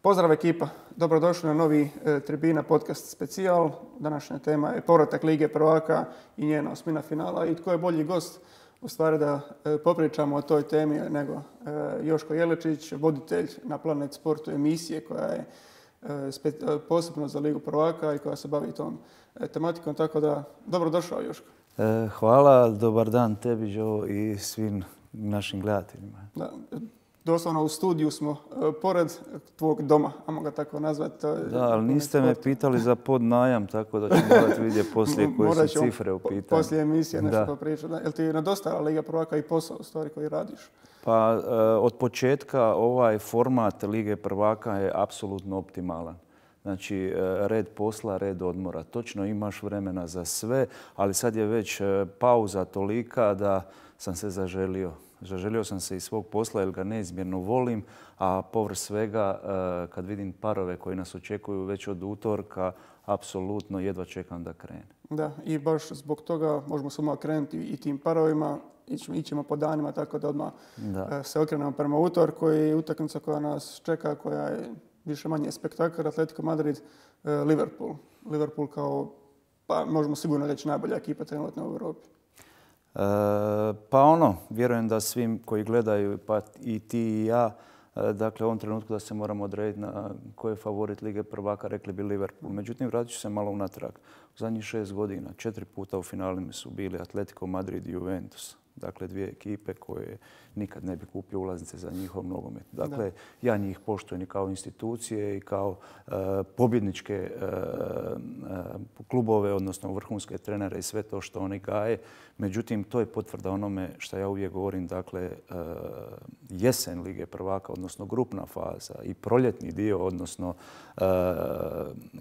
Pozdrav ekipa, dobrodošli na novi Tribina podcast specijal. Današnja tema je povratak Lige prvaka i njena osmina finala. I tko je bolji gost u stvari da popričamo o toj temi nego Joško Jelečić, voditelj na Planet Sportu emisije koja je posebno za Ligu prvaka i koja se bavi tom tematikom. Tako da, dobrodošao Joško. Hvala, dobar dan tebi Joe i svim našim gledateljima. Da, doslovno u studiju smo pored tvog doma, ajmo ga tako nazvati. Da, ali niste me pitali za podnajam, tako da ću morati vidjeti poslije koje su cifre u pitanju. Poslije emisije nešto popričati. Jel ti nedostala Liga prvaka i posao u stvari koji radiš? Pa od početka ovaj format Lige prvaka je apsolutno optimalan. Znači, red posla, red odmora. Točno imaš vremena za sve, ali sad je već pauza tolika da sam se zaželio. Zaželio sam se iz svog posla jer ga neizmjerno volim, a povrh svega kad vidim parove koji nas očekuju već od utorka, apsolutno jedva čekam da krene. Da, i baš zbog toga možemo samo krenuti i tim parovima, ićemo po danima tako da odmah se okrenemo prema utorku i utakmica koja nas čeka, koja je više manje spektakl, Atletico Madrid, Liverpool. Liverpool kao, pa možemo sigurno reći, najbolja ekipa trenutno u Europi. Pa vjerujem da svim koji gledaju, pa i ti i ja, dakle u ovom trenutku da se moramo odrediti na ko je favorit Lige prvaka, rekli bi Liverpool. Međutim, vratit ću se malo unatrag. U zadnjih 6 godina 4 puta u finalima su bili Atletico Madrid i Juventus. Dakle, dvije ekipe koje nikad ne bi kupio ulaznice za njihov nogomet. Dakle, ja njih poštujem i kao institucije i kao pobjedničke klubove, odnosno vrhunske trenere i sve to što oni gaje. Međutim, to je potvrda onome što ja uvijek govorim, dakle, jesen Lige prvaka, odnosno grupna faza i proljetni dio, odnosno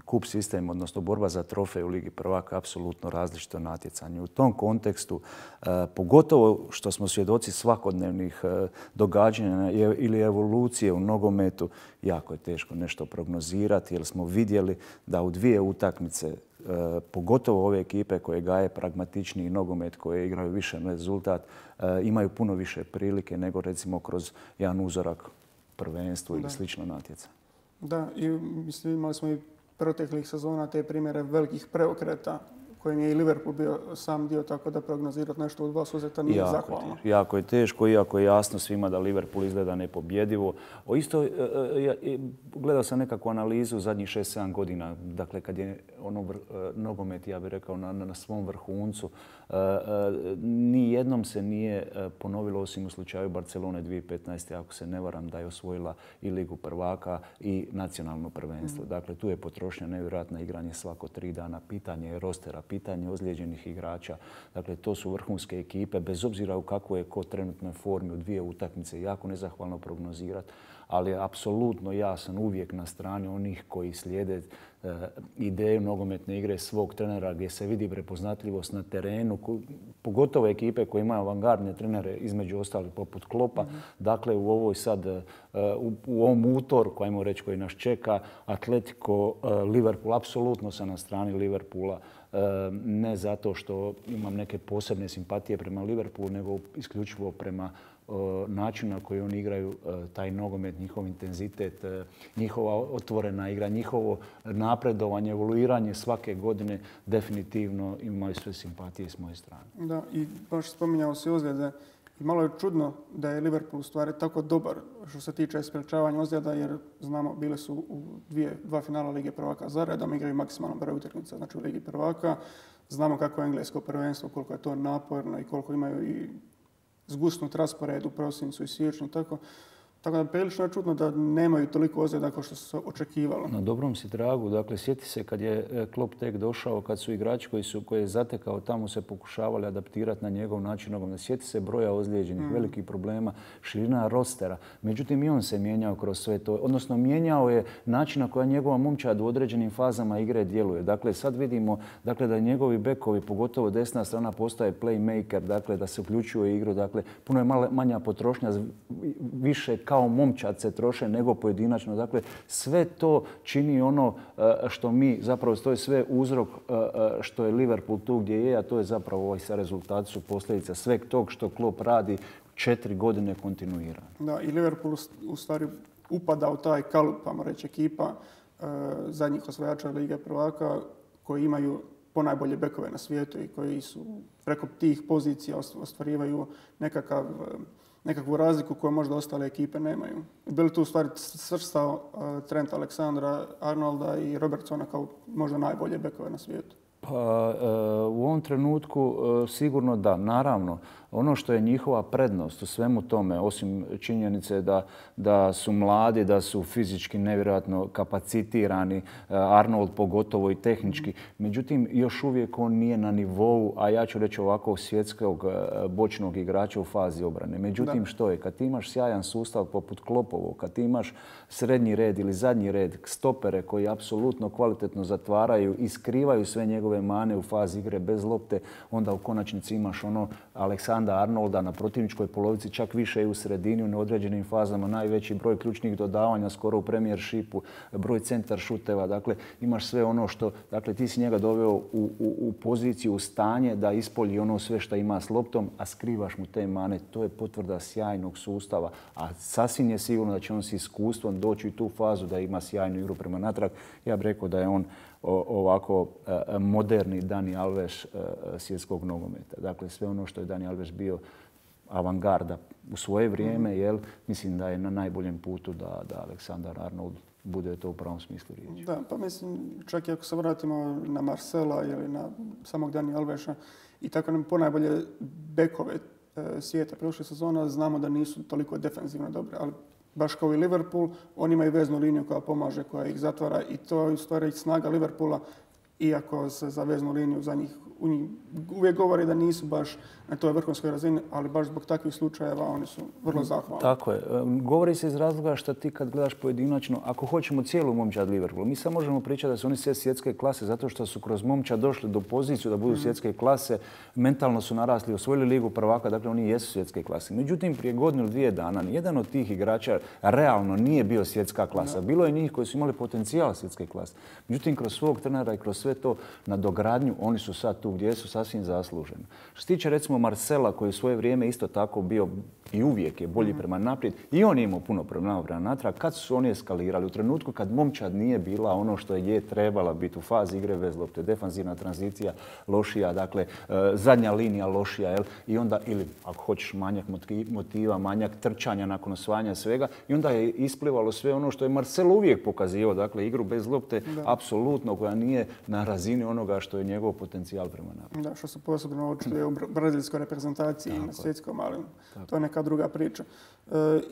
kup sistem, odnosno borba za trofej u Ligi prvaka, apsolutno različito natjecanje. U tom kontekstu, pogotovo što smo svjedoci svakodnevnih događanja ili evolucije u nogometu, jako je teško nešto prognozirati jer smo vidjeli da u dvije utakmice, pogotovo ove ekipe koje gaje pragmatičniji nogomet, koje igraju više rezultat, imaju puno više prilike nego recimo kroz jedan uzorak prvenstvu ili slično natjecanje. Da, i mislim, imali smo i proteklih sezona te primjere velikih preokreta kojim je i Liverpool bio sam dio, tako da prognozirati nešto u dva susreta nije zahvalno. Jako je teško, iako je jasno svima da Liverpool izgleda nepobjedivo. Gledao sam nekakvu analizu zadnjih 6-7 godina, dakle kad je nogomet, ja bih rekao, na svom vrhuncu. Ni jednom se nije ponovilo, osim u slučaju Barcelone 2015. ako se ne varam, da je osvojila i Ligu prvaka i nacionalno prvenstvo. Dakle, tu je potrošnja nevjerojatna, igranje svako 3 dana, pitanje rostera, pitanje ozlijeđenih igrača. Dakle, to su vrhunske ekipe, bez obzira u kakvoj je ko trenutnoj formi u dvije utakmice, jako nezahvalno prognozirati, ali apsolutno ja sam uvijek na strani onih koji slijede ideju nogometne igre svog trenera gdje se vidi prepoznatljivost na terenu, pogotovo ekipe koje imaju avangardne trenere, između ostalih poput Kloppa. Dakle, u ovoj sad, u ovom utorku, ajmo reći, koji nas čeka, Atletico, Liverpool, apsolutno sam na strani Liverpoola. Ne zato što imam neke posebne simpatije prema Liverpoolu, nego isključivo prema načinu na koji oni igraju taj nogomet, njihov intenzitet, njihova otvorena igra, njihovo napredovanje, evoluiranje svake godine definitivno imaju sve simpatije s moje strane. Da, i baš spominjao si ozljede. I malo je čudno da je Liverpool u stvari tako dobar što se tiče sprečavanja ozljeda, jer znamo bile su u dva finala Lige prvaka za redom, igraju maksimalan broj utakmica, znači u Ligi prvaka. Znamo kako je englesko prvenstvo, koliko je to naporno i koliko imaju i zgusnut raspored u prosincu i siječnju. Tako da prilično je čudno da nemaju toliko ozljeda kao što se očekivalo. Na dobrom si tragu. Dakle, sjeti se kad je Klopp tek došao, kad su igrači koje je zatekao tamo se pokušavali adaptirati na njegov način nogometa. Sjeti se broja ozlijeđenih, velikih problema, širina rostera. Međutim, i on se mijenjao kroz sve to. Odnosno, mijenjao je način na koji njegova momčad u određenim fazama igre djeluje. Dakle, sad vidimo da njegovi bekovi, pogotovo desna strana, postaje playmaker, dakle, da se uključuje u igru. Dakle, puno je manja potrošnja, više kao momčad se troše nego pojedinačno. Dakle, sve to čini ono što mi, zapravo to je sve uzrok što je Liverpool tu gdje je, a to je zapravo ovaj sa rezultati su posljedica sveg tog što Klopp radi 4 godine kontinuirano. Da, i Liverpool u stvari upada u taj kalup, pa reći, ekipa zadnjih osvajača Lige prvaka koji imaju ponajbolje bekove na svijetu i koji su preko tih pozicija ostvarivaju nekakvu razliku koju možda ostale ekipe nemaju. Bili tu u stvari svrstao Trent Alexandra-Arnolda i Robertsona kao možda najbolje bekove na svijetu? Pa, u ovom trenutku sigurno da. Naravno, ono što je njihova prednost u svemu tome, osim činjenice da su mladi, da su fizički nevjerojatno kapacitirani, Arnold pogotovo i tehnički, međutim još uvijek on nije na nivou, a ja ću reći ovako, svjetskog bočnog igrača u fazi obrane. Međutim, što je? Kad ti imaš sjajan sustav poput Kloppovog, kad ti imaš srednji red ili zadnji red, stopere koji apsolutno kvalitetno zatvaraju i skrivaju sve njegove mane u fazi igre bez lopte, onda u konačnici imaš ono Alexandra Arnolda na protivničkoj polovici, čak više i u sredini, u neodređenim fazama, najveći broj ključnih dodavanja skoro u premijershipu, broj centar šuteva. Dakle, imaš sve ono što, dakle, ti si njega doveo u poziciju, u stanje da ispolji ono sve što ima s loptom, a skrivaš mu te mane. To je potvrda sjajnog sustava, a sasvim je sigurno da će on s iskustvom doći u tu fazu da ima sjajnu igru prema natrag. Ja bih rekao da je on ovako moderni Dani Alves svjetskog nogometa. Dakle, sve ono što je Dani Alves bio avangarda u svoje vrijeme, mislim da je na najboljem putu da Alexander Arnold bude to u pravom smislu riječi. Da, pa mislim, čak i ako se vratimo na Marcela ili na samog Dani Alvesa i tako nam ponajbolje bekove svijeta prošle sezona, znamo da nisu toliko defensivno dobre, ali baš kao i Liverpool, oni imaju veznu liniju koja pomaže, koja ih zatvara i to je u stvari snaga Liverpoola, iako se za veznu liniju za njih uvijek govori da nisu baš na toj vrhunskoj razini, ali baš zbog takvih slučajeva oni su vrlo zahvalni. Tako je. Govori se iz razloga što ti kad gledaš pojedinačno, ako hoćemo cijelu momčad Liverpoola, mi sad možemo pričati da su oni sve svjetske klase zato što su kroz momčad došli do poziciju da budu svjetske klase, mentalno su narasli, osvojili Ligu prvaka, dakle oni jesu svjetske klase. Međutim, prije godinu ili dvije dana nijedan od tih igrača realno nije bio svjetska klasa. Bilo je njih koji su imali potencijal svjetske klase. Međutim, kroz svog trenera i kroz sve to nadogradnju, oni su sad tu gdje su sasvim zasluženi. Što se tiče recimo Marcela koji u svoje vrijeme isto tako bio i uvijek je bolji prema naprijed i on je imao puno problema prema natrag. Kad su oni eskalirali? U trenutku kad momčad nije bila ono što je trebala biti u fazi igre bez lopte, defanzivna tranzicija lošija, dakle zadnja linija lošija, i onda, ili ako hoćeš manjak motiva, manjak trčanja nakon osvajanja svega, i onda je isplivalo sve ono što je Marcel uvijek pokazivao, dakle igru bez lopte, apsolutno koja nije na razini onoga što je njegov potencijal prema naprijed. Da, što se posebno očituje u brazilskoj reprezentaciji i na svjetskom, ali to je neka druga priča.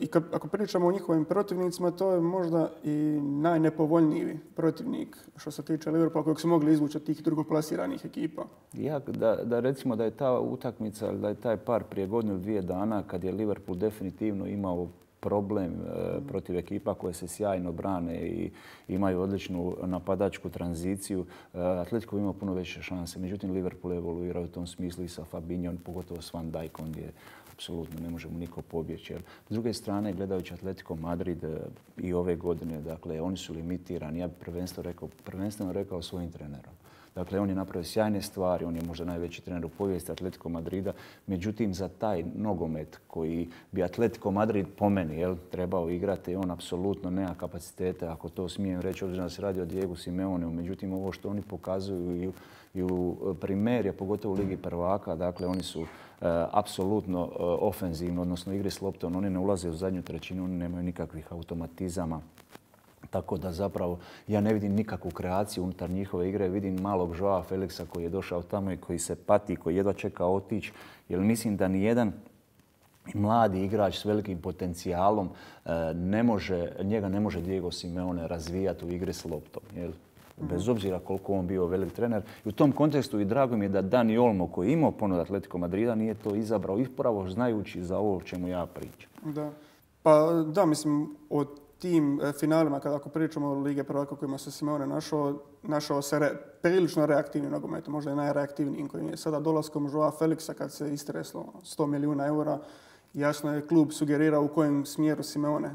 I ako pričamo o njihovim protivnicima, to je možda i najnepovoljniji protivnik što se tiče Liverpoola kojeg su mogli izvući od tih drugoplasiranih ekipa. Da recimo da je ta utakmica, da je taj par prije godinu ili dvije dana kad je Liverpool definitivno imao problem protiv ekipa koje se sjajno brane i imaju odličnu napadačku tranziciju. Atletico ima puno veće šanse. Međutim, Liverpool je evoluirao u tom smislu i sa Fabinhom, pogotovo s Van Dijkom gdje apsolutno ne može mu niko pobjeći. S druge strane, gledajući Atletico Madrid i ove godine, dakle, oni su limitirani. Ja bih prvenstveno rekao svojim trenerom. Dakle, on je napravio sjajne stvari, on je možda najveći trener u povijesti Atletico Madrida. Međutim, za taj nogomet koji bi Atletico Madrid po meni trebao igrati, on apsolutno nema kapacitete, ako to smijem reći, obzirom da se radi o Diegu Simeoneu. Međutim, ovo što oni pokazuju i u Primeri, pogotovo u Ligi prvaka, dakle, oni su apsolutno ofenzivno, odnosno igri s loptom. Oni ne ulaze u zadnju trećinu, oni nemaju nikakvih automatizama. Tako da zapravo ja ne vidim nikakvu kreaciju unutar njihove igre. Vidim malog Joao Felixa koji je došao tamo i koji se pati, koji jedva čeka otići. Jer mislim da nijedan mladi igrač s velikim potencijalom njega ne može Diego Simeone razvijati u igri s loptom. Bez obzira koliko on bio velik trener. I u tom kontekstu i drago mi je da Dani Olmo koji je imao ponudu Atletico Madrida nije to izabrao upravo znajući za ovo o čemu ja pričam. Da. Pa da, mislim, od tim finalima, ako pričamo o Lige prvaka kojima se Simeone našao se prilično reaktivnim nogometom, možda je najreaktivnijim koji je sada dolaskom Joao Felixa kad se istreslo 100 milijuna eura. Jasno je klub sugerirao u kojem smjeru Simeone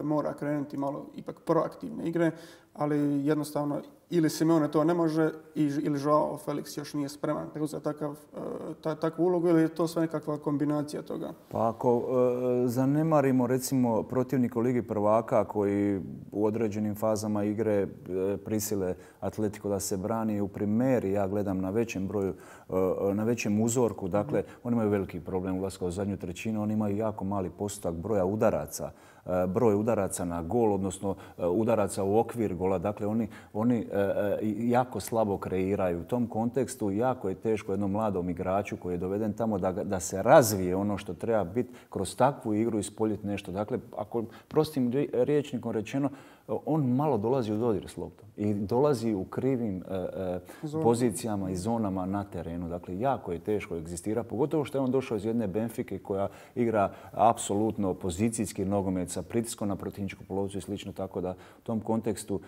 mora krenuti malo ipak proaktivne igre, ali jednostavno ili Simeone to ne može ili Joao Felix još nije spreman preuzeti takvu ulogu ili je to sve nekakva kombinacija toga? Pa ako zanemarimo recimo protivnika u Ligi prvaka koji u određenim fazama igre prisile Atletico da se brani u primeri, ja gledam na većem broju, na većem uzorku, dakle oni imaju veliki problem ulaska u zadnju trećinu, oni imaju jako mali postotak broja udaraca. Broj udaraca na gol, odnosno udaraca u okvir gola. Dakle, oni jako slabo kreiraju. U tom kontekstu jako je teško jednom mladom igraču koji je doveden tamo da se razvije ono što treba biti kroz takvu igru ispoljiti nešto. Dakle, ako prostim rječnikom rečeno, on malo dolazi u dodir s loptom i dolazi u krivim pozicijama i zonama na terenu. Dakle, jako je teško egzistira, pogotovo što je on došao iz jedne Benfike koja igra apsolutno pozicijski nogomet sa pritiskom na protivničku polovicu i slično, tako da u tom kontekstu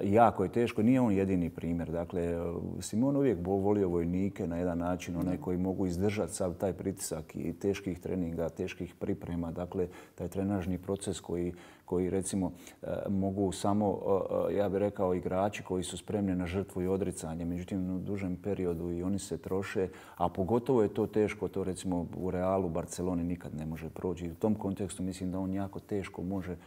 jako je teško. Nije on jedini primjer. Dakle, Simon uvijek volio vojnike na jedan način, one koji mogu izdržati sav taj pritisak i teških treninga, teških priprema. Dakle, taj trenažni proces koji recimo mogu samo, ja bih rekao, igrači koji su spremni na žrtvu i odricanje. Međutim, u dužem periodu i oni se troše, a pogotovo je to teško, to recimo u Realu, Barceloni nikad ne može proći. I u tom kontekstu mislim da on jako teško može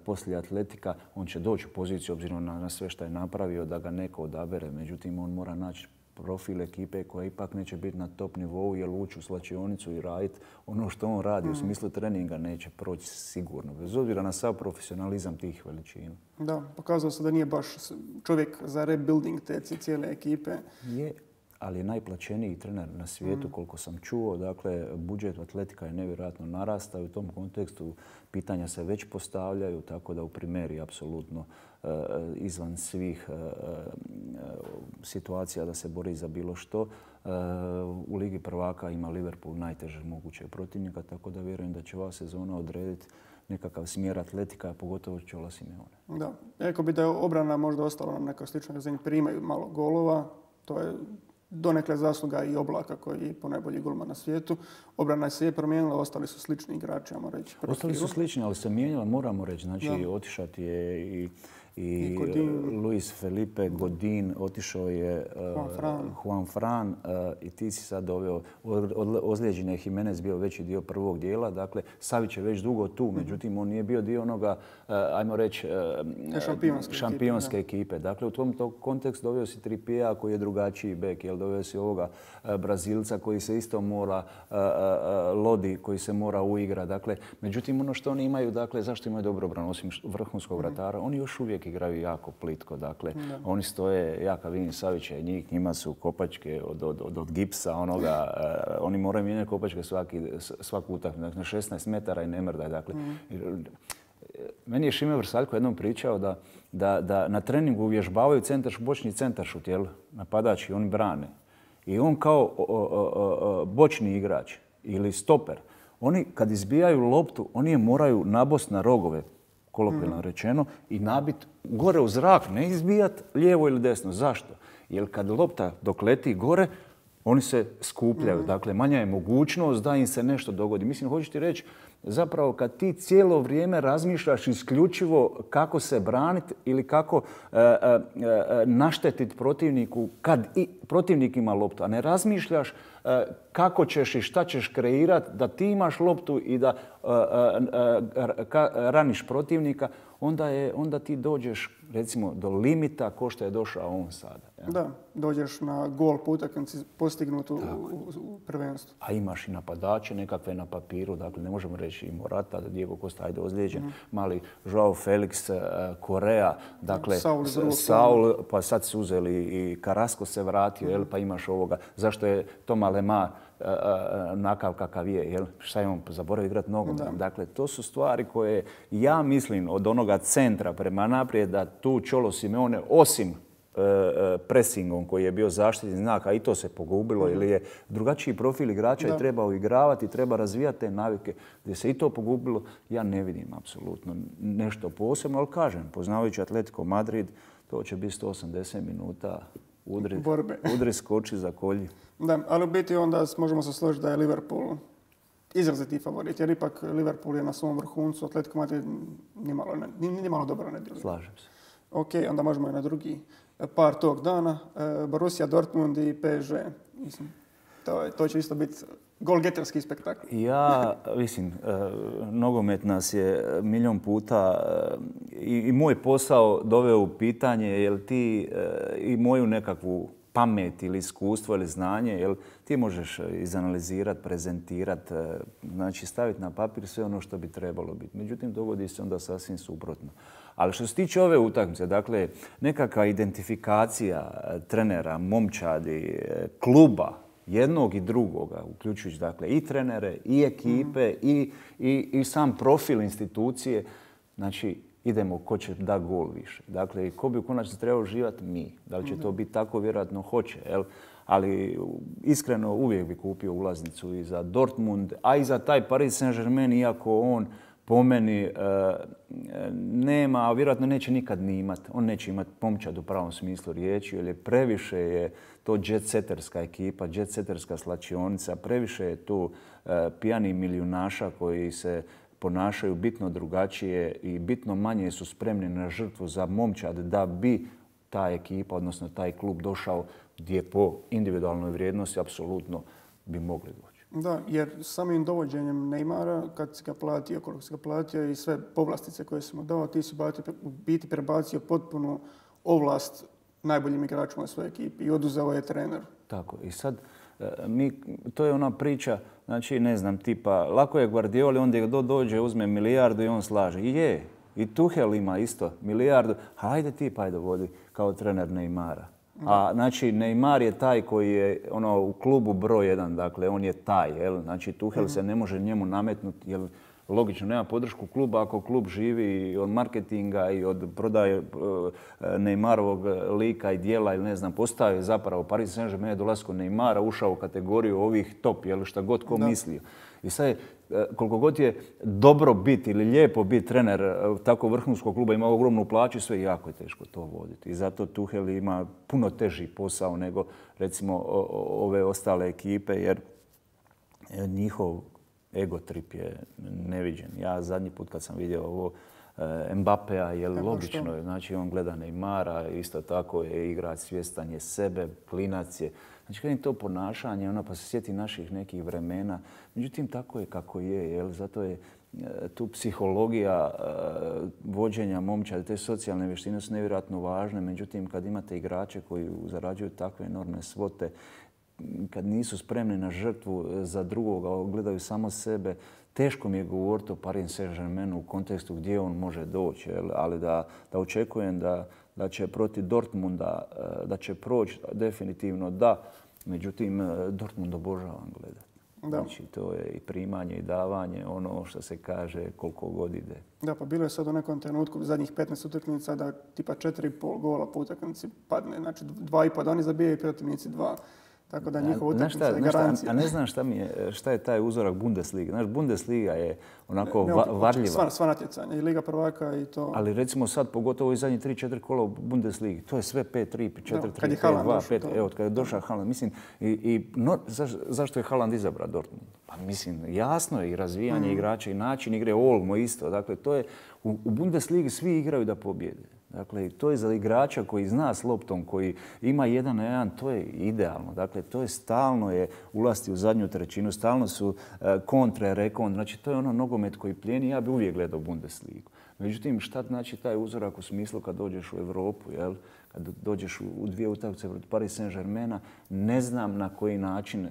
poslije Atletika, on će doći u poziciju obzirom na sve što je napravio da ga neko odabere. Međutim, on mora naći profil ekipe koja ipak neće biti na top nivou jer ući u slačionicu i raditi ono što on radi u smislu treninga neće proći sigurno. Bez obzira na sav profesionalizam tih veličina. Da, pokazalo se da nije baš čovjek za rebuilding te cijele ekipe. Je, ali je najplaćeniji trener na svijetu koliko sam čuo. Dakle, budžet Atletika je nevjerojatno narastao i u tom kontekstu pitanja se već postavljaju, tako da u primjeri apsolutno izvan svih situacija da se bori za bilo što. U Ligi prvaka ima Liverpool najteže moguće protivnika, tako da vjerujem da će ova sezona odrediti nekakav smjer Atletika, pogotovo Čola Simeone. Da, rekao bi da je obrana možda ostala na nekoj sličnoj razini, primaju malo golova, to je donekle zasluga i Oblaka koji je ponajbolji golman na svijetu. Obrana se je promijenila, ostali su slični igrači, ajmo reći. Ostali su slični, ali se mijenjala, moramo reći. Znači, otišati je i Luis Felipe Godin, otišao je Juan Fran i ti si sad doveo, ozlijeđen je Jimenez bio veći dio prvog dijela, dakle Savić je već dugo tu, međutim on nije bio dio onoga, ajmo reći, šampionske ekipe. Dakle, u tom kontekstu doveo si Trippija koji je drugačiji bek, doveo si ovoga Brazilca koji se isto mora, Lodi koji se mora uigrati. Dakle, međutim ono što oni imaju, dakle, zašto imaju dobro obranu osim vrhunskog vratara, oni još uvijek igraju jako plitko. Dakle, oni stoje, ja kad vidim Savića i njima su kopačke od gipsa, oni moraju mijenjati kopačke svaku utakmicu, dakle, na 16 metara i ne mrdaj. Dakle, meni je Šime Vrsaljko jednom pričao da na treningu uvježbavaju bočni centaršut, napadač i oni brane. I on kao bočni igrač ili stoper, oni kad izbijaju loptu, oni je moraju nabost na rogove, kolokvijalno rečeno, i nabit gore u zrak, ne izbijat lijevo ili desno. Zašto? Jer kad lopta dok leti gore, oni se skupljaju. Dakle, manja je mogućnost da im se nešto dogodi. Mislim, hoćeš ti reći, zapravo kad ti cijelo vrijeme razmišljaš isključivo kako se braniti ili kako naštetiti protivniku kad i protivnik ima loptu, a ne razmišljaš kako ćeš i šta ćeš kreirati da ti imaš loptu i da raniš protivnika, onda ti dođeš recimo do limita ko što je došao on sada. Ja? Da, dođeš na gol po utakmici postignut u prvenstvu. A imaš i napadače nekakve na papiru, dakle ne možemo reći i Morata, Diego Costa, ajde ozlijeđen, mali Joao Felix, Korea, dakle Saul, pa sad su uzeli i Carrasco se vratio, pa imaš ovoga. Zašto je Toma Lemar nakav kakav je, šta je on zaboravio igrati nogom. Dakle, to su stvari koje ja mislim od onoga centra prema naprijed da tu Čolo Simeone osim presingom koji je bio zaštitni znak, a i to se pogubilo, ili je drugačiji profil igrača i treba uigravati, treba razvijati te navike. Gdje se i to pogubilo, ja ne vidim apsolutno nešto posebno, ali kažem, poznavajući Atletico Madrid, to će biti 180 minuta udri, skoči, zakolji. Da, ali u biti onda možemo se složiti da je Liverpool izraziti favorit, jer ipak Liverpool je na svom vrhuncu, Atletico Madrid nimalo dobro ne djeluje. Slažem se. Ok, onda možemo i na drugi par tog dana, Borussia Dortmund i PSG. Mislim, to će isto biti golgeterski spektakl. Ja, mislim, nogomet nas je milion puta i moj posao doveo u pitanje jel ti i moju nekakvu pamet ili iskustvo ili znanje, jel ti možeš izanalizirati, prezentirati, znači staviti na papir sve ono što bi trebalo biti. Međutim, dogodi se onda sasvim suprotno. Ali što se tiče ove utakmice, dakle, nekakva identifikacija trenera, momčadi, kluba, jednog i drugoga, uključujući dakle i trenere, i ekipe, i sam profil institucije, znači idemo ko će da gol više. Dakle, ko bi u konačnici trebao uživati? Mi. Da li će to biti tako? Vjerojatno hoće. Jel? Ali iskreno uvijek bi kupio ulaznicu i za Dortmund, a i za taj Paris Saint-Germain, iako on po meni nema, a vjerojatno neće nikad ni imati. On neće imati momčad u pravom smislu riječi, jer je previše je to jet-setterska ekipa, jet-setterska slačionica, previše je tu pijani milijunaša koji se ponašaju bitno drugačije i bitno manje su spremni na žrtvu za momčad da bi ta ekipa, odnosno taj klub došao gdje po individualnoj vrijednosti apsolutno bi mogli doći. Da, jer samim dovođenjem Neymara, kad si ga platio, koliko si ga platio i sve povlastice koje si mu dao, ti si u biti prebacio potpunu ovlast najboljim igračima u svojoj ekipi i oduzeo je trener. Tako, i sad to je ona priča, znači ne znam, tipa, lako je Guardioli, onda dođe, uzme milijardu i on slaže. I je, i Tuchel ima isto milijardu, hajde ti pa vodi kao trener Neymara. A znači Neymar je taj koji je u klubu broj 1, dakle on je taj, jel? Znači Tuchel se ne može njemu nametnuti, jer logično nema podršku kluba ako klub živi od marketinga i od prodaje Neymarovog lika i dijela ili ne znam, postao je zapravo Paris Saint-Germain je dolaskom Neymara ušao u kategoriju ovih top, jel šta god ko mislio. I sad je, koliko god je dobro biti ili lijepo biti trener tako vrhunskog kluba, ima ogromnu plaću, sve jako je teško to voditi. I zato Tuchel ima puno teži posao nego recimo ove ostale ekipe, jer njihov ego trip je neviđen. Ja zadnji put kad sam vidio ovo Mbappéa, je logično je, znači on gleda Neymara, isto tako je igrač, svjestan je sebe, klinac je. Znači kad je to ponašanje, pa se sjeti naših nekih vremena. Međutim, tako je kako je, jel? Zato je tu psihologija vođenja momčadi, te socijalne vještine su nevjerojatno važne. Međutim, kad imate igrače koji zarađuju takve enormne svote, kad nisu spremni na žrtvu za drugoga, gledaju samo sebe, teško mi je govoriti o Paris Saint-Germainu u kontekstu gdje on može doći, ali da očekujem da će protiv Dortmunda, da će proći, definitivno da. Međutim, Dortmund obožavam gledati. Znači, to je i primanje i davanje, ono što se kaže koliko god ide. Da, pa bilo je sad u nekom trenutku zadnjih 15 utakmica da tipa 4,5 gola po utakmici padne. Znači 2,5 da oni zabijaju i protivnici 2. Tako da njihova utakmica je garancija. A ne znam šta je taj uzorak Bundesliga. Znaš, Bundesliga je onako varljiva. Sva natjecanja, i Liga prvaka i to. Ali recimo sad, pogotovo i zadnji 3-4 kola u Bundesligi, to je sve 5-3, 4-3, 5-2, 5. Evo, kad je došao Haaland, mislim, zašto je Haaland izabrao Dortmund? Pa mislim, jasno je i razvijanje igrača i način igre, Olmo isto. Dakle, to je, u Bundesligi svi igraju da pobjede. Dakle, to je za igrača koji zna s loptom, koji ima 1-1, to je idealno. Dakle, to je stalno je ulasti u zadnju trećinu, stalno su kontre, rekon. Znači, to je ono nogomet koji plijeni. Ja bi uvijek gledao Bundesligu. Međutim, šta znači taj uzorak u smislu kad dođeš u Europu, jel? Kad dođeš u dvije utakmice protiv Paris Saint-Germaina, ne znam na koji način,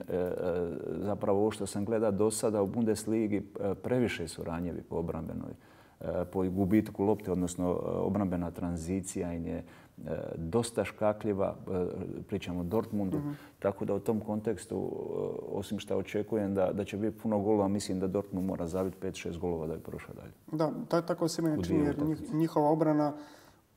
zapravo ovo što sam gledao do sada u Bundesligi, previše su ranjevi po obrambenoj, po gubitku lopte, odnosno obrambena tranzicija im je dosta škakljiva, pričamo o Dortmundu, tako da u tom kontekstu, osim što očekujem da će biti puno golova, mislim da Dortmund mora zabiti 5-6 golova da bi prošao dalje. Da, tako se meni čini, jer njihova obrana,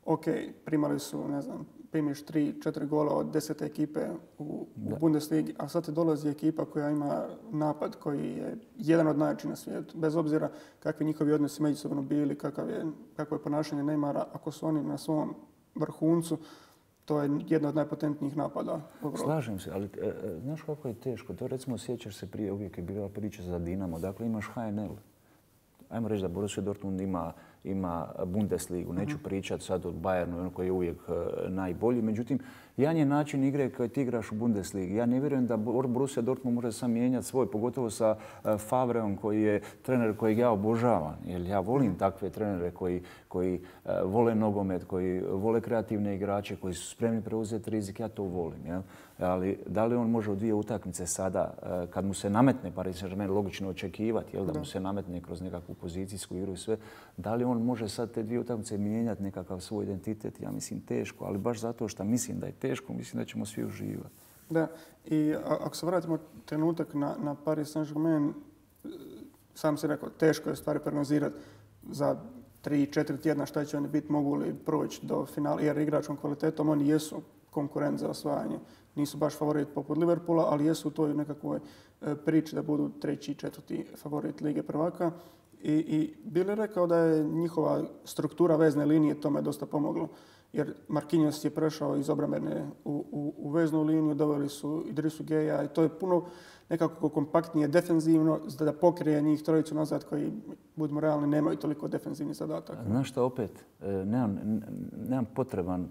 ok, primali su, ne znam, primiš 3-4 gola od 10 ekipe u Bundesligi, a sad te dolazi ekipa koja ima napad koji je jedan od najjačih na svijetu. Bez obzira kakvi njihovi odnosi međusobno bili, kakvo je ponašanje Neymara, ako su oni na svom vrhuncu, to je jedna od najpotentnijih napada u Evropi. Slažem se, ali znaš kako je teško? To recimo sjećaš se prije, uvijek je bila priča za Dinamo. Dakle, imaš HNL. Ajmo reći da Borussia Dortmund ima ima Bundesligu. Neću pričati sad o Bayernu koji je uvijek najbolji. Međutim, jedan je način igre koji ti igraš u Bundesligi. Ja ne vjerujem da Borussia Dortmund može sam mijenjati svoj, pogotovo sa Favreom koji je trener kojeg ja obožavam. Jer ja volim takve trenere koji vole nogomet, koji vole kreativne igrače, koji su spremni preuzeti rizik. Ja to volim. Jel? Ali da li on može u dvije utakmice sada, kad mu se nametne Paris Saint-Germain, logično očekivati, jel, da mu se nametne kroz nekakvu pozicijsku igru i sve, da li on može sad te dvije utakmice mijenjati nekakav svoj identitet? Ja mislim teško, ali baš zato što mislim da je teško, mislim da ćemo svi uživati. Da, i ako se vratimo trenutak na Paris Saint-Germain, sam si rekao, teško je stvari prognozirati za 3-4 tjedna šta će oni biti, mogu li proći do finala, jer igračkom kvalitetom oni jesu konkurent za osvajanje. Nisu baš favorit poput Liverpoola, ali jesu u toj nekakvoj priči da budu 3. i 4. favorit Lige prvaka. I Bill je rekao da je njihova struktura vezne linije tome dosta pomoglo. Jer Marquinhos je prešao iz obrambene u veznu liniju, doveli su Idrisu Geja i to je puno nekako kompaktnije defenzivno da pokrije njih trojicu nazad koji, budimo realni, nemaju toliko defenzivnih zadataka. Znaš što, opet, nemam potreban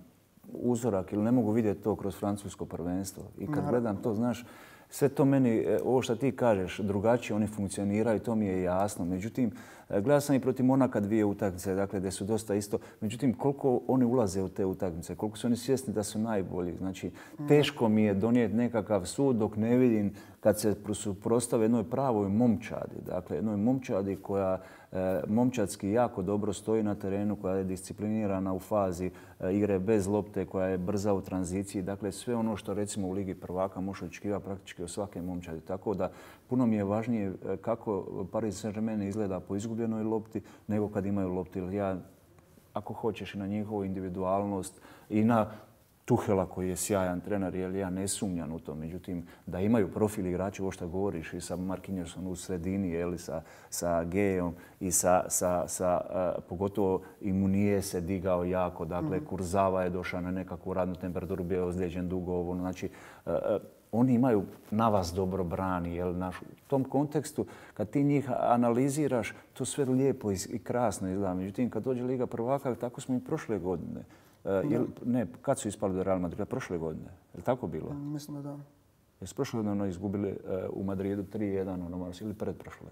uzorak ili ne mogu vidjeti to kroz francusko prvenstvo. I kad gledam to, znaš, sve to meni, ovo što ti kažeš, drugačije oni funkcioniraju, to mi je jasno. Međutim, gledao sam i protiv Monaka dvije utakmice, dakle, gdje su dosta isto. Međutim, koliko oni ulaze u te utakmice, koliko su oni svjesni da su najbolji. Znači, teško mi je donijeti nekakav sud dok ne vidim kad se suprotstave jednoj pravoj momčadi. Dakle, jednoj momčadi koja momčadski jako dobro stoji na terenu, koja je disciplinirana u fazi igre bez lopte, koja je brza u tranziciji. Dakle, sve ono što recimo u Ligi prvaka može očekivati praktički od svake momčadi. Tako da puno mi je važnije kako Paris Saint-Germain izgleda po izgubljenoj lopti nego kad imaju lopti. Ja, ako hoćeš, i na njihovu individualnost i na Tuhela koji je sjajan trener, jer ja ne sumnjam u to. Međutim, da imaju profil igrača, ovo što govoriš, i sa Marquinhosom u sredini, jeli, sa Gejom i pogotovo i Munije se digao jako. Dakle, Kurzawa je došao na nekakvu radnu temperaturu, bio je ozlijeđen dugo. Znači, oni imaju na vas dobro brani. Jel, u tom kontekstu, kad ti njih analiziraš, to sve lijepo i krasno izgleda. Međutim, kad dođe Liga prvaka, tako smo i prošle godine. Kad su ispali do Real Madrida? Prošle godine. Je li tako bilo? Mislim da da. Jesu prošle godine izgubili u Madridu 3-1 ili predprošle?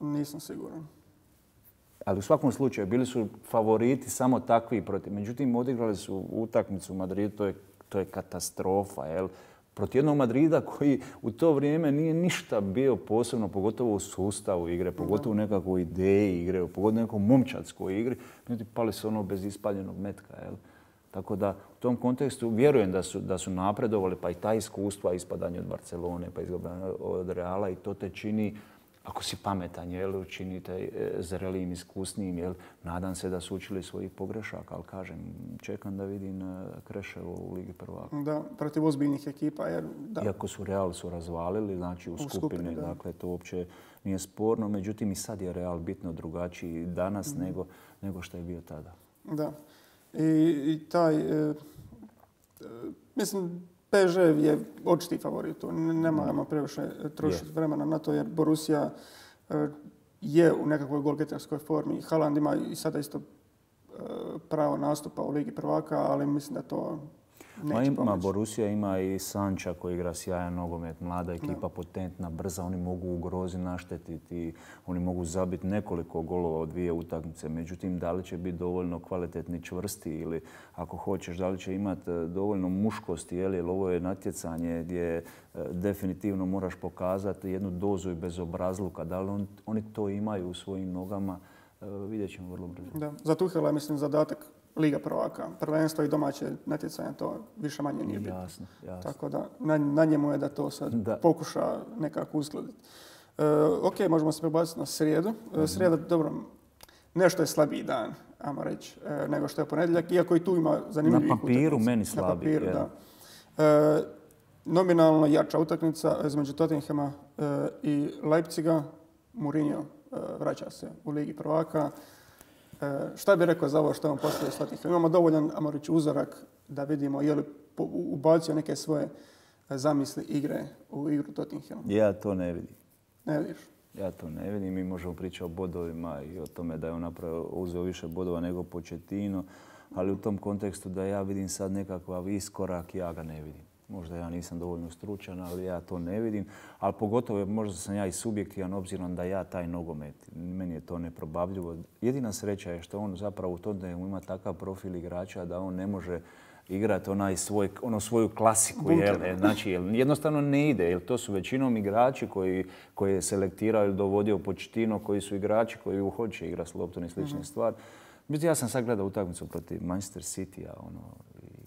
Nisam siguran. Ali u svakom slučaju bili su favoriti samo takvi protiv. Međutim, odigrali su utakmicu u Madridu, to je katastrofa. Jel? Protiv jednog Madrida koji u to vrijeme nije ništa bio posebno, pogotovo u sustavu igre, pogotovo u nekakvoj ideji igre, pogotovo u nekakvoj momčadskoj igri. Međutim, pali su ono bez ispaljenog metka. Jel? Tako da u tom kontekstu vjerujem da su napredovali, pa i ta iskustva, ispadanje od Barcelone, pa izgubljanje od Reala, i to te čini, ako si pametan, jel, činite zrelijim, iskusnijim, jel, nadam se da su učili svojih pogrešaka, ali kažem, čekam da vidim Kreševo u Ligi prvaka. Da, protiv ozbiljnih ekipa. Iako su Real razvalili, znači u skupini, dakle, to uopće nije sporno. Međutim, i sad je Real bitno drugačiji danas nego što je bio tada. Da. I taj, mislim, PSG je očiti favorit tu. Ne moramo previše trošiti vremena na to, jer Borussia je u nekakvoj golgeterskoj formi. Haaland ima i sada isto pravo nastupa u Ligi prvaka, ali mislim da to neće pomoći. Borussia ima i Sancha koji igra sjajan nogomet, mlada ekipa, potentna, brza. Oni mogu ugroziti, naštetiti, oni mogu zabiti nekoliko golova u dvije utakmice. Međutim, da li će biti dovoljno kvalitetni, čvrsti, ili ako hoćeš, da li će imati dovoljno muškosti, jer ovo je natjecanje gdje definitivno moraš pokazati jednu dozu i bezobrazluka. Da li oni to imaju u svojim nogama, vidjet ćemo vrlo brzo. Da. Za Tuhela je, mislim, zadatak Liga prvaka. Prvenstvo i domaće natjecanje, to više manje nije bitno. Jasno. Tako da na njemu je da to sad pokuša nekako uskladiti. Ok, možemo se prebaciti na srijedu. Srijeda, dobro, nešto je slabiji dan, ajmo reći, nego što je ponedjeljak, iako i tu ima zanimljivih utakmica. Na papiru meni slabiji. Na papiru, da. Nominalno jača utakmica između Tottenhama i Leipziga. Mourinho vraća se u Ligi prvaka. Šta bi rekao za ovo što on postoji s Tottenhamom? Imamo dovoljan, ajmo reći, uzorak da vidimo je li ubacio neke svoje zamisli igre u igru Tottenhama. Ja to ne vidim. Ne vidiš? Ja to ne vidim. Mi možemo pričati o bodovima i o tome da je on uzeo više bodova nego Pochettino, ali u tom kontekstu da ja vidim sad nekakav iskorak, ja ga ne vidim. Možda ja nisam dovoljno stručan, ali ja to ne vidim. Ali pogotovo možda sam ja i subjektivan obzirom da ja taj nogomet, meni je to neprobavljivo. Jedina sreća je što on zapravo u Tottenhamu ima takav profil igrača da on ne može igrati svoju klasiku. Znači, jednostavno ne ide, jer to su većinom igrači koji je selektirao ili dovodio Pochettino, koji su igrači koji hoće igrati s loptom i slične stvari. Međutim, ja sam sad gledao utakmicu protiv Manchester City-a.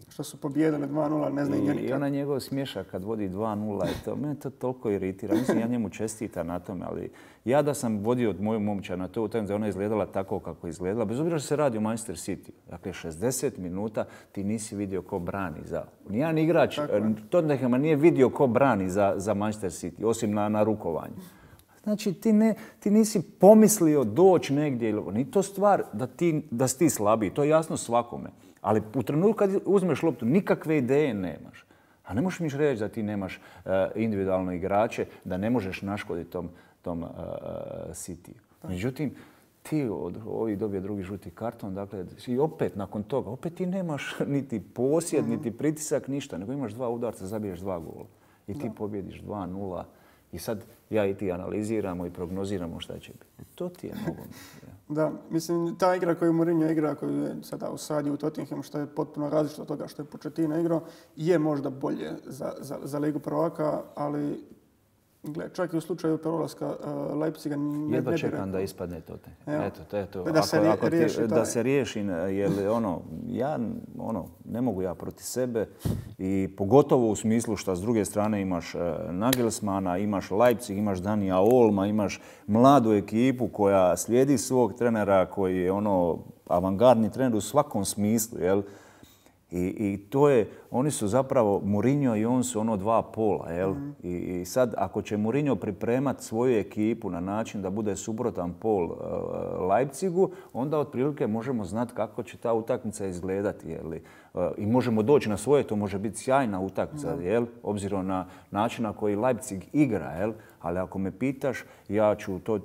Što su pobijedili 2-0, ne znam nikad. I ona njegov smješak kad vodi 2-0, mene to toliko iritira. Mislim, ja njemu čestitam na tome, ali ja da sam vodio moju momčad na to utakmicu, ona je izgledala tako kako je izgledala, bez obzira što se radi o Manchester City. Dakle, 60 minuta ti nisi vidio ko brani za... Nijedan igrač Tottenhama nije vidio ko brani za Manchester City, osim na rukovanju. Znači, ti nisi pomislio doći negdje. Nije to stvar da si ti slabiji, to je jasno svakome. Ali u trenutku kad uzmeš loptu, nikakve ideje nemaš. A ne možeš mi reći da ti nemaš individualno igrače, da ne možeš naškoditi tom City. Međutim, ti ovi dobije drugi žuti karton, dakle, i opet nakon toga, opet ti nemaš niti posjed, niti pritisak, ništa, nego imaš 2 udarca, zabiješ 2 gola. I ti pobjediš 2-0. I sad ja i ti analiziramo i prognoziramo šta će biti. To ti je nogomet. Da, mislim, ta igra koju Mourinho igra, koju je sada usadio u Tottenhamu, što je potpuno različito od toga što je Pochettino igrao, je možda bolje za Ligu prvaka, ali čak i u slučaju prolaska Leipziga ne bi jedva čekam da ispadne Tottenham. Eto. Da se riješi, jer ja ne mogu ja protiv sebe i pogotovo u smislu što s druge strane imaš Nagelsmana, imaš Leipzig, imaš Danija Olma, imaš mladu ekipu koja slijedi svog trenera koji je avangardni trener u svakom smislu, jel? I to je, oni su zapravo, Mourinho i on su dva pola, jel? I sad, ako će Mourinho pripremati svoju ekipu na način da bude suprotan pol Leipzigu, onda otprilike možemo znati kako će ta utakmica izgledati, jel? I možemo doći na svoje, to može biti sjajna utakmica, jel? Obzirom na način na koji Leipzig igra, jel? Ali ako me pitaš, ja ću to,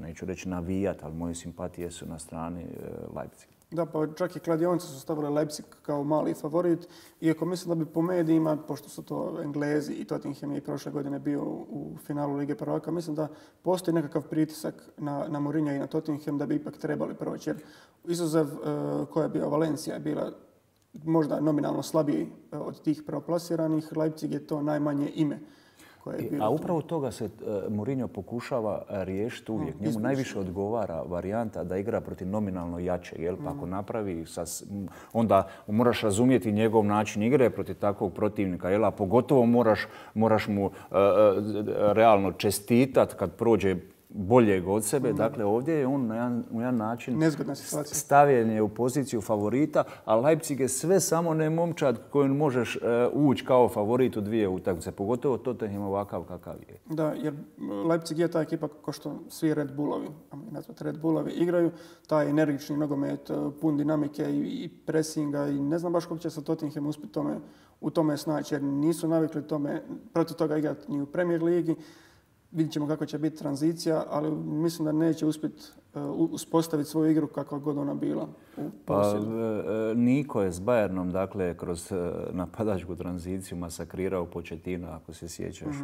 neću reći navijati, ali moje simpatije su na strani Leipziga. Da, pa čak i kladionice su stavile Leipzig kao mali favorit. Iako mislim da bi po medijima, pošto su to Englezi i Tottenham je prošle godine bio u finalu Lige prvaka, mislim da postoji nekakav pritisak na Mourinha i na Tottenham da bi ipak trebali proći. Jer izuzev koja je bio Valencija je bila možda nominalno slabiji od tih prvoplasiranih, Leipzig je to najmanje ime. A upravo toga se Mourinho pokušava riješiti uvijek. Njemu najviše odgovara varijanta da igra protiv nominalno jačeg. Jel? Pa ako napravi, onda moraš razumjeti njegov način igre protiv takvog protivnika. Jel? A pogotovo moraš mu realno čestitati kad prođe boljeg od sebe. Dakle, ovdje je on na jedan način stavljen je u poziciju favorita, a Leipzig je sve samo ne momčad kojom možeš ući kao favorit u 2 utakmice. Pogotovo Tottenham ovakav kakav je. Da, jer Leipzig je ta ekipa kao što svi Red Bullovi, Red Bullovi igraju, taj energični nogomet, pun dinamike i presinga i ne znam baš kako će se Tottenham uspjeti u tome snaći, jer nisu navikli protiv toga igrati ni u Premier ligi. Vidjet ćemo kako će biti tranzicija, ali mislim da neće uspjeti uspostaviti svoju igru kakva god ona bila u posjedu. Niko je s Bayernom, dakle, kroz napadačku tranziciju masakrirao Pochettina, ako se sjećaš,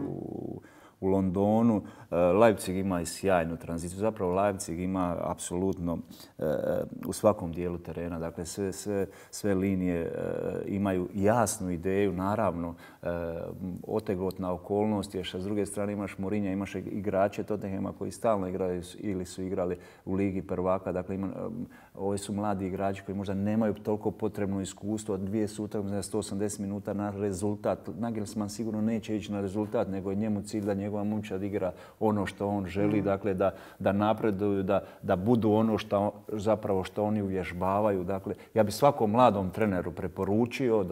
u Londonu. Leipzig ima i sjajnu tranziciju. Zapravo Leipzig ima apsolutno u svakom dijelu terena. Dakle, sve linije imaju jasnu ideju. Naravno, otegotna okolnost je što s druge strane imaš Mourinha, imaš igrače Tottenhama koji stalno igraju ili su igrali u Ligi prvaka. Dakle, ovi su mladi igrači koji možda nemaju toliko potrebno iskustvo. 2 su utakmice 180 minuta na rezultat. Nagelsmann sigurno neće ići na rezultat, nego je njemu cilj da njegova momčad igra ono što on želi, dakle da napreduju, da budu ono što oni uvježbavaju. Dakle, ja bih svakom mladom treneru preporučio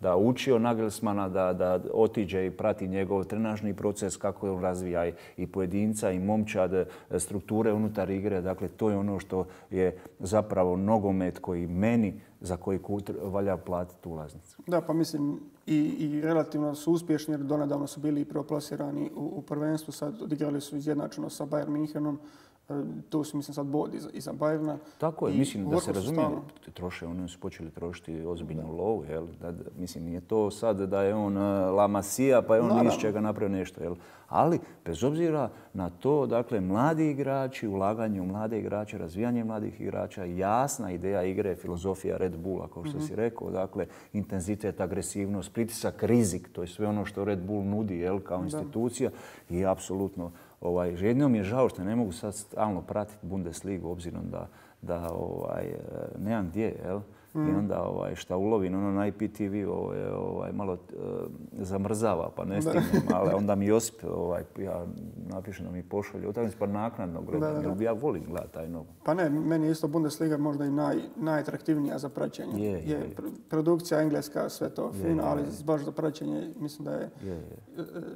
da uči od Nagelsmana, da otiđe i prati njegov trenažni proces, kako on razvija i pojedinca i momčad, strukture unutar igre. Dakle, to je ono što je zapravo zapravo nogomet koji meni, za koji valja platiti ulaznicu. Da, pa mislim i relativno su uspješni jer donedavno su bili prvo-plasirani u prvenstvu, sad odigrali su izjednačeno sa Bayern Münchenom. Tu su, mislim, sad bod iza Bayerna. Tako je, mislim da se razumije, troše, oni su počeli trošiti ozbiljnu lovu, jel? Mislim, nije to sad da je on La Masia pa je on iz čega napravio nešto, jel? Ali, bez obzira na to, dakle, mladi igrači, ulaganje u mlade igrače, razvijanje mladih igrača, jasna ideja igre, filozofija Red Bulla, kao što si rekao, dakle, intenzitet, agresivnost, pritisak, rizik, to je sve ono što Red Bull nudi, jel, kao institucija i apsolutno. Jednom je žao što ne mogu sad stalno pratiti Bundesligu obzirom da nemam gdje, jel? I onda šta ulovim na IPTV malo zamrzava pa ne stignem, ali onda mi Josip ja napišem da mi pošalje utakmicu pa naknadno gledam, jer ja volim gledati taj nogomet. Pa ne, meni je isto Bundesliga možda i najatraktivnija za praćenje. Produkcija engleska, sve to fino, ali baš za praćenje mislim da je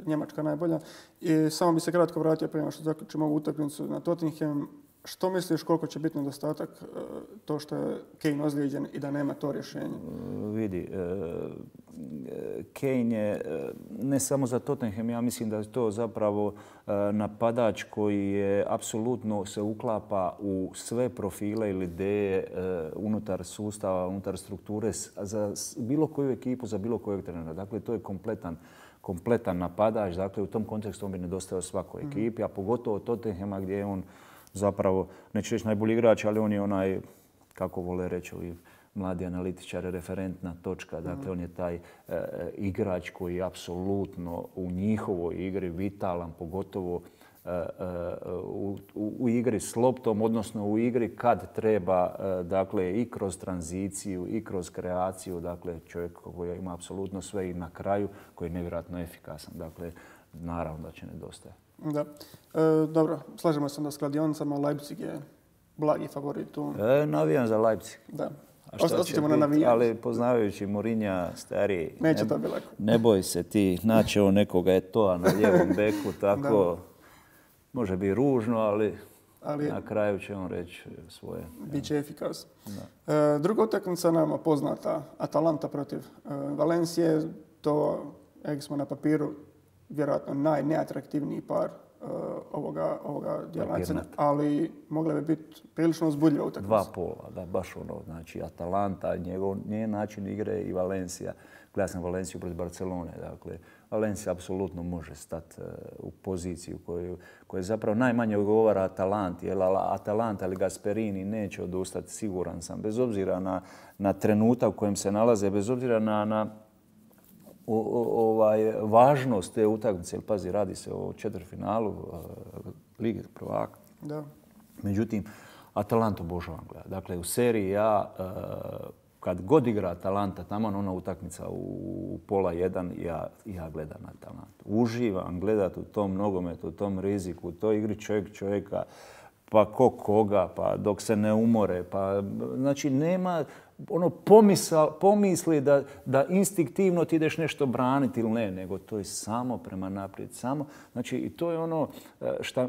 Njemačka najbolja. I samo bi se kratko vratio prema što zaključimo ovu utakmicu na Tottenham. Što misliš koliko će biti nedostatak to što je Kane ozlijeđen i da nema to rješenje? Vidi, Kane je ne samo za Tottenham, ja mislim da je to zapravo napadač koji je apsolutno se uklapa u sve profile ili ideje unutar sustava, unutar strukture za bilo koju ekipu, za bilo kojeg trenera. Dakle, to je kompletan napadač. Dakle, u tom kontekstu on bi nedostajao svakoj ekipi, a pogotovo Tottenhama gdje je on zapravo, neću reći najbolji igrač, ali on je onaj, kako vole reći ovi mladi analitičari, referentna točka. Dakle, on je taj igrač koji je apsolutno u njihovoj igri vitalan, pogotovo u igri s loptom, odnosno u igri kad treba, dakle, i kroz tranziciju i kroz kreaciju. Dakle, čovjek koji ima apsolutno sve i na kraju koji je nevjerojatno efikasan. Dakle, naravno da će nedostajati. Da. Dobro, slažemo se da s kladionicama. Leipzig je blagi favorit tu. Navijam za Leipzig. Da. Ostaćemo na navijanje. Ali poznavajući Mourinha, stariji, neće to biti lako. Ne boj se ti, naći nekoga Eto'a na lijevom beku, tako može biti ružno, ali na kraju će on reći svoje. Biće efikasan. Druga utakmica nama poznata, Atalanta protiv Valencije. To, jak smo na papiru, vjerojatno najneatraktivniji par ovoga dijela, ali mogla bi biti prilično uzbudljiva utakmica. Dva pola, da, baš ono. Znači, Atalanta, njen način igre i Valencija. Gledao sam Valenciju protiv Barcelone. Dakle, Valencija apsolutno može stati u poziciju koju zapravo najmanje odgovara Atalanti. Atalanta ili Gasperini neće odustati, siguran sam. Bez obzira na trenutak u kojem se nalaze, bez obzira na važnost te utakmice. Pazi, radi se o četvrtfinalu Lige prvaka. Da. Međutim, Atalantu obožavam gledati. Dakle, u seriji A, kad god igra Atalanta, tamo ona utakmica u pola 1, ja gledam Atalantu. Uživam gledati u tom nogometu, u tom riziku, u toj igri čovjeka, pa koga, pa dok se ne umore. Pa, znači, nema pomisli da instinktivno ti ideš nešto braniti ili ne, nego to je samo prema naprijed. Znači, i to je ono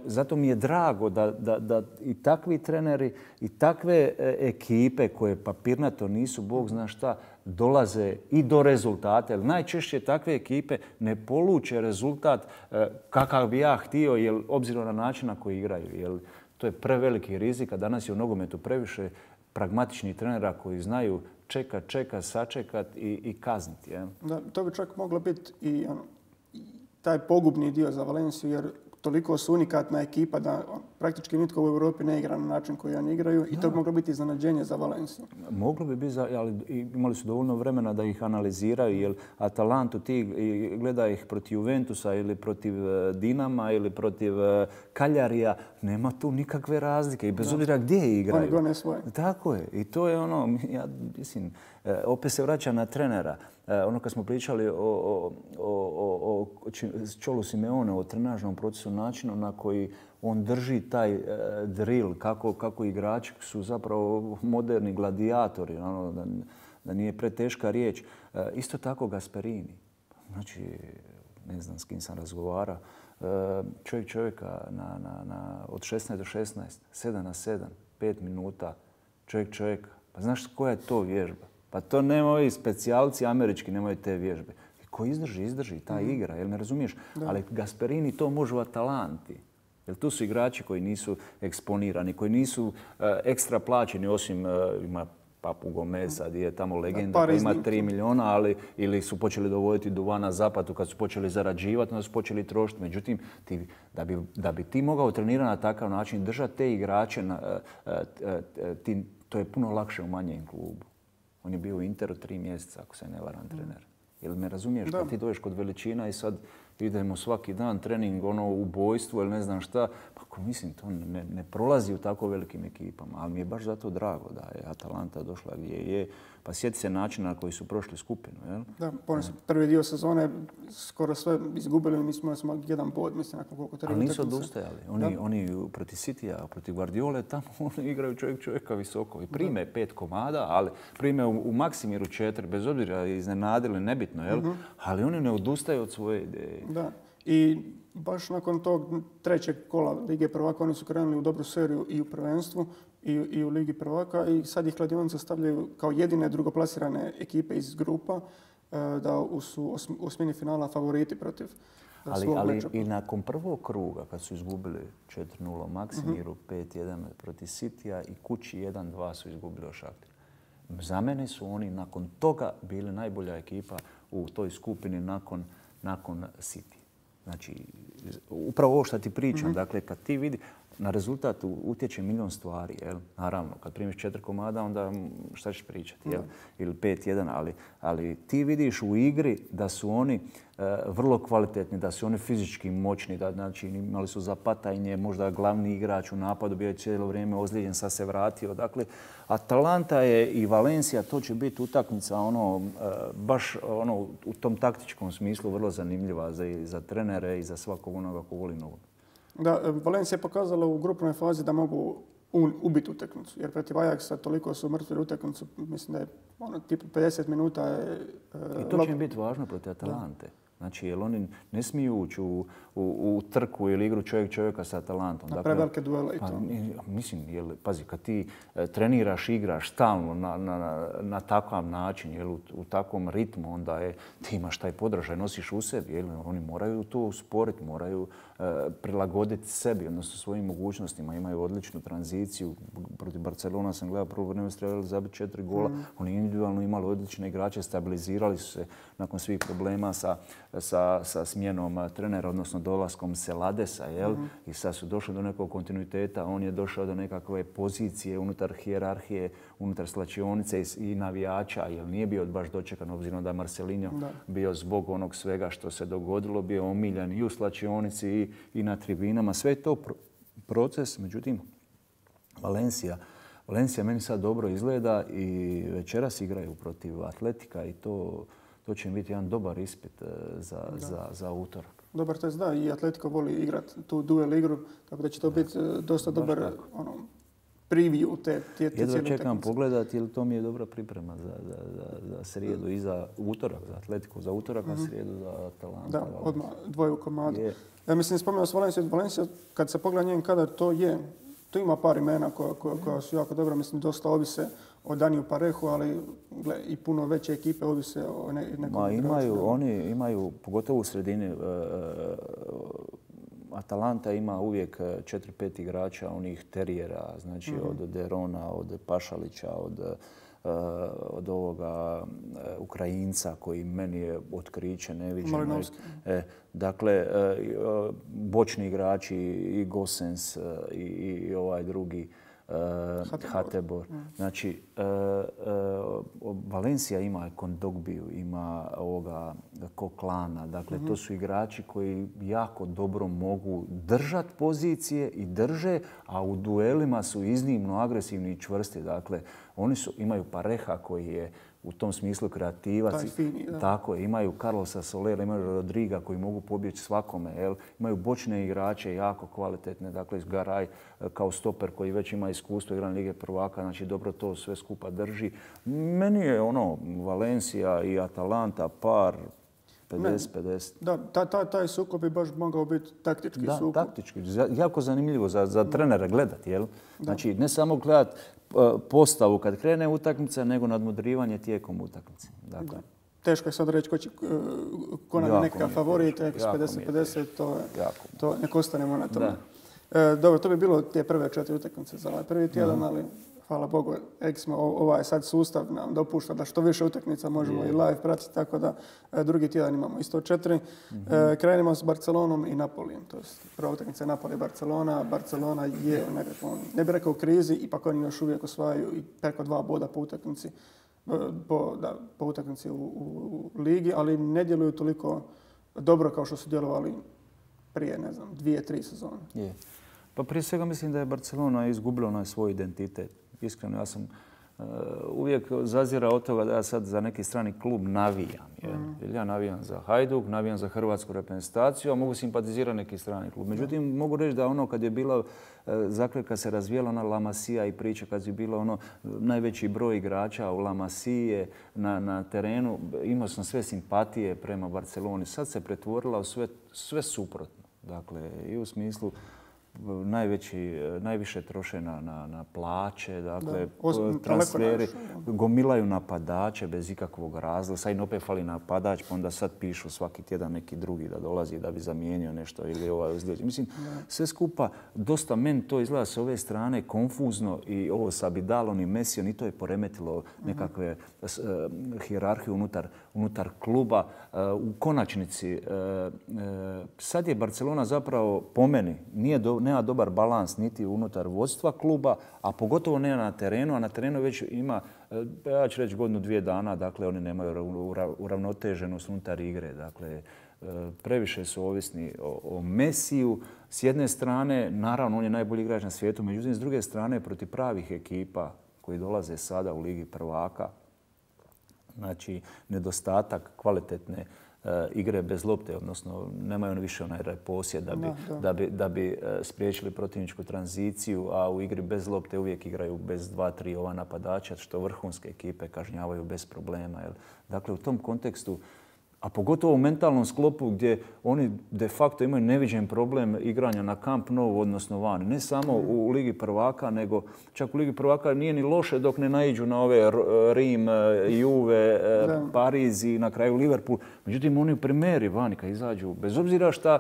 zato mi je drago da i takvi treneri i takve ekipe koje papirnato nisu Bog zna šta, dolaze i do rezultata. Jer najčešće takve ekipe ne poluče rezultat kakav bi ja htio, jer obzirom na način na koji igraju. Jer to je preveliki rizik, a danas je u nogometu previše pragmatičnih trenera koji znaju čekat, sačekat i kazniti. Ja? Da, to bi čak moglo biti i taj pogubni dio za Valenciju, jer toliko su unikatna ekipa da praktički nitko u Europi ne igra na način koji oni igraju i to bi moglo biti iznenađenje za Valenciju. Moglo bi biti, ali imali su dovoljno vremena da ih analiziraju, jer Atalantu ti gleda ih protiv Juventusa ili protiv Dinama ili protiv Kaljarija, nema tu nikakve razlike i bez obzira gdje igraju. Oni gone svoje. Tako je. I to je ono, ja mislim, opet se vraća na trenera. Ono kad smo pričali o Čolu Simeone, o trenažnom procesu, načinu na koji on drži taj drill, kako igrači su zapravo moderni gladijatori, ono, da nije preteška riječ. Isto tako Gasperini. Znači, ne znam s kim sam razgovarao, čovjeka od 16 do 16, 7 na 7, 5 minuta, čovjek. Pa znaš koja je to vježba? Pa to nemaju specijalci američki, nemaju te vježbe. Ko izdrži ta igra, jel me razumiješ? Da. Ali Gasperini to može u Atalanti. Jer tu su igrači koji nisu eksponirani, koji nisu ekstra plaćeni, osim ima Papu Gomez, sad je tamo legenda, ima 3 miliona, ali ili su počeli dovoditi duva na zapadu kad su počeli zarađivati, onda su počeli trošiti. Međutim, da bi ti mogao trenirati na takav način, držati te igrače, to je puno lakše u manjem klubu. On je bio u Interu 3 mjeseca, ako se ne varam, trener. Jel me razumiješ? Kad ti dođeš kod veličina i sad idemo svaki dan trening, ubojstvo ili ne znam šta, pa mislim to ne prolazi u tako velikim ekipama. Ali mi je baš zato drago da je Atalanta došla gdje je. Pa sjeti se načina na koji su prošli skupinu. Jel? Da, prvi dio sezone skoro sve izgubili, mi smo jedan bod, mislim, nakon koliko treba. Ali nisu odustajali. Oni protiv Citya, protiv Guardiole, tamo oni igraju čovjeka visoko. I prime 5 komada, ali prime u Maksimiru 4, bez obzira iznenadili, nebitno, jel? Ali oni ne odustaju od svoje ideje. Da. I baš nakon tog trećeg kola Lige prvaka oni su krenuli u dobru seriju i u prvenstvu i u Ligi prvaka i sad ih kladionice stavljaju kao jedine drugoplasirane ekipe iz grupa da su u osmini finala favoriti protiv svog meča. I nakon prvog kruga kad su izgubili 4-0 Maksimiru, 5-1 protiv Cityja i kući 1-2 su izgubili od Šaktira. Za mene su oni nakon toga bili najbolja ekipa u toj skupini nakon City. Znači, upravo ovo što ti pričam, dakle, kad ti vidi, na rezultat utječe milion stvari, jel? Naravno, kad primiš 4 komada, onda šta ćeš pričati, jel? Ili 5-1, ali ti vidiš u igri da su oni vrlo kvalitetni, da su oni fizički moćni, da znači imali su Zapatajnje, možda glavni igrač u napadu, bio je cijelo vrijeme ozlijeđen, sad se vratio. Dakle, Atalanta je i Valencia, to će biti utakmica baš u tom taktičkom smislu vrlo zanimljiva za trenere i za svakog onoga ko voli nogomet. Da, Valencia je pokazala u grupnoj fazi da mogu ubiti utakmicu. Jer protiv Ajaxa toliko su mrtvili utakmicu, mislim da je tipu 50 minuta. I to će im biti važno protiv Atalante. Znači, jer oni ne smiju ući u trku ili igru čovjeka sa Atalantom. Na prevelike duele i to. Mislim, pazi, kad ti treniraš, igraš stalno na takav način, u takvom ritmu, onda ti imaš taj podražaj, nosiš u sebi. Oni moraju to usporiti, moraju prilagoditi sebi, odnosno svojim mogućnostima. Imaju odličnu tranziciju. Protiv Barcelona sam gledao, prvo vreme su trebali zabiti 4 gola. Oni individualno imali odlične igrače, stabilizirali su se nakon svih problema sa smjenom trenera, odnosno dolaskom Seladesa, jel? I sad su došli do nekog kontinuiteta, on je došao do nekakve pozicije unutar hijerarhije, unutar slačionice i navijača, jer nije bio baš dočekan, obzirom da je Marcelinho bio zbog onog svega što se dogodilo, bio omiljan i u slačionici i na tribinama. Sve je to proces, međutim, Valencia meni sad dobro izgleda i večeras igraju protiv Atletika i to će im biti jedan dobar ispit za utorak. Dobar test, da. I Atletico voli igrati tu duel igru, tako da će to biti dosta dobar preview te cijele utakmice. Jedva čekam pogledati, jer to mi je dobra priprema za srijedu i za utorak, za Atletico, za utorak, a srijedu za Atalanta. Da, odmah dvoje u komadu. Ja mislim, spomenuo sam Valencia, kad se pogleda njen kadar, to ima par imena koja su jako dobra, mislim, dosta ovise o Daniju Parehu, ali i puno veće ekipe ovise o nekom igraču. Oni imaju, pogotovo u sredini, Atalanta ima uvijek 4-5 igrača, onih terijera, znači od Derona, od Pašalića, od ovoga Ukrajinca koji meni je otkriće neviđeno. Dakle, bočni igrači i Gosens i ovaj drugi Hatebor. Znači, Valencia ima Kondogbiju, ima ovoga Koklana. Dakle, to su igrači koji jako dobro mogu držati pozicije i drže, a u duelima su iznimno agresivni i čvrsti. Dakle, oni imaju Pareha koji je u tom smislu kreativac. Tako je, imaju Carlosa Solera, imaju Rodriga koji mogu pobjeći svakome. Imaju bočne igrače jako kvalitetne, dakle Garay kao stoper koji već ima iskustvo igranja Lige prvaka, znači dobro to sve skupa drži. Meni je Valencia i Atalanta par 50-50. Da, taj sukob bi baš mogao biti taktički sukob. Da, taktički. Jako zanimljivo za trenere gledati, jel? Znači, ne samo gledati postavu kad krene utakmica, nego nadmudrivanje tijekom utakmice. Dakle. Teško je sad reći ko nam je neka favorit, 50-50, to nek ostanemo na tome. Dobro, to bi bilo te prve 4 utakmice za ovaj prvi tjedan, ali hvala Bogu, ovaj sad sustav nam dopušta da što više utakmica možemo i live pratiti, tako da drugi tjedan imamo isto 4. Krenimo s Barcelonom i Napolijem. To je prva utakmica je Napoli-Barcelona. Barcelona je u nekakvom, ne bih rekao u krizi, ipak oni još uvijek osvajaju i preko 2 boda po utakmici. Po utakmici u ligi, ali ne djeluju toliko dobro kao što su djelovali prije, 2-3 sezone. Pa prije svega mislim da je Barcelona izgubila onaj svoj identitet. Iskreno, ja sam uvijek zazirao od toga da ja sad za neki strani klub navijam. Ja navijam za Hajduk, navijam za hrvatsku reprezentaciju, a mogu simpatizirati neki strani klub. Međutim, mogu reći da ono kad je bila kad se razvijela ona La Masia i priča, kad je bilo najveći broj igrača u La Masije na terenu, imao sam sve simpatije prema Barceloni. Sad se pretvorila u sve suprotno. Dakle, i u smislu najviše troše na plaće, dakle, transferi, gomilaju napadače bez ikakvog razloga. Sad im opet fali napadač, pa onda sad pišu svaki tjedan neki drugi da dolazi da bi zamijenio nešto ili ozlijeđen. Mislim, sve skupa, dosta meni to izgleda s ove strane konfuzno i ovo sa Abidalom i Mesijom i to je poremetilo nekakve hijerarhiju unutar kluba. U konačnici, sad je Barcelona zapravo po meni nema dobar balans niti unutar vodstva kluba, a pogotovo ne na terenu, a na terenu već ima, ja ću reći 1-2 dana, dakle oni nemaju uravnoteženost unutar igre. Dakle, previše su ovisni o Mesiju. S jedne strane, naravno, on je najbolji igrač na svijetu, međutim, s druge strane, protiv pravih ekipa koji dolaze sada u Ligi prvaka, znači nedostatak kvalitetne igre bez lopte, odnosno nemaju oni više onaj posjed da bi spriječili protivničku tranziciju, a u igri bez lopte uvijek igraju bez 2-3 napadača, što vrhunske ekipe kažnjavaju bez problema. Dakle, u tom kontekstu, a pogotovo u mentalnom sklopu gdje oni de facto imaju neviđen problem igranja na Camp Nou, odnosno vani. Ne samo u Ligi prvaka, nego čak u Ligi prvaka nije ni loše dok ne naiđu na ove Rim, Juve, Pariz i na kraju Liverpool. Međutim, oni u primjeri vani kad izađu, bez obzira šta,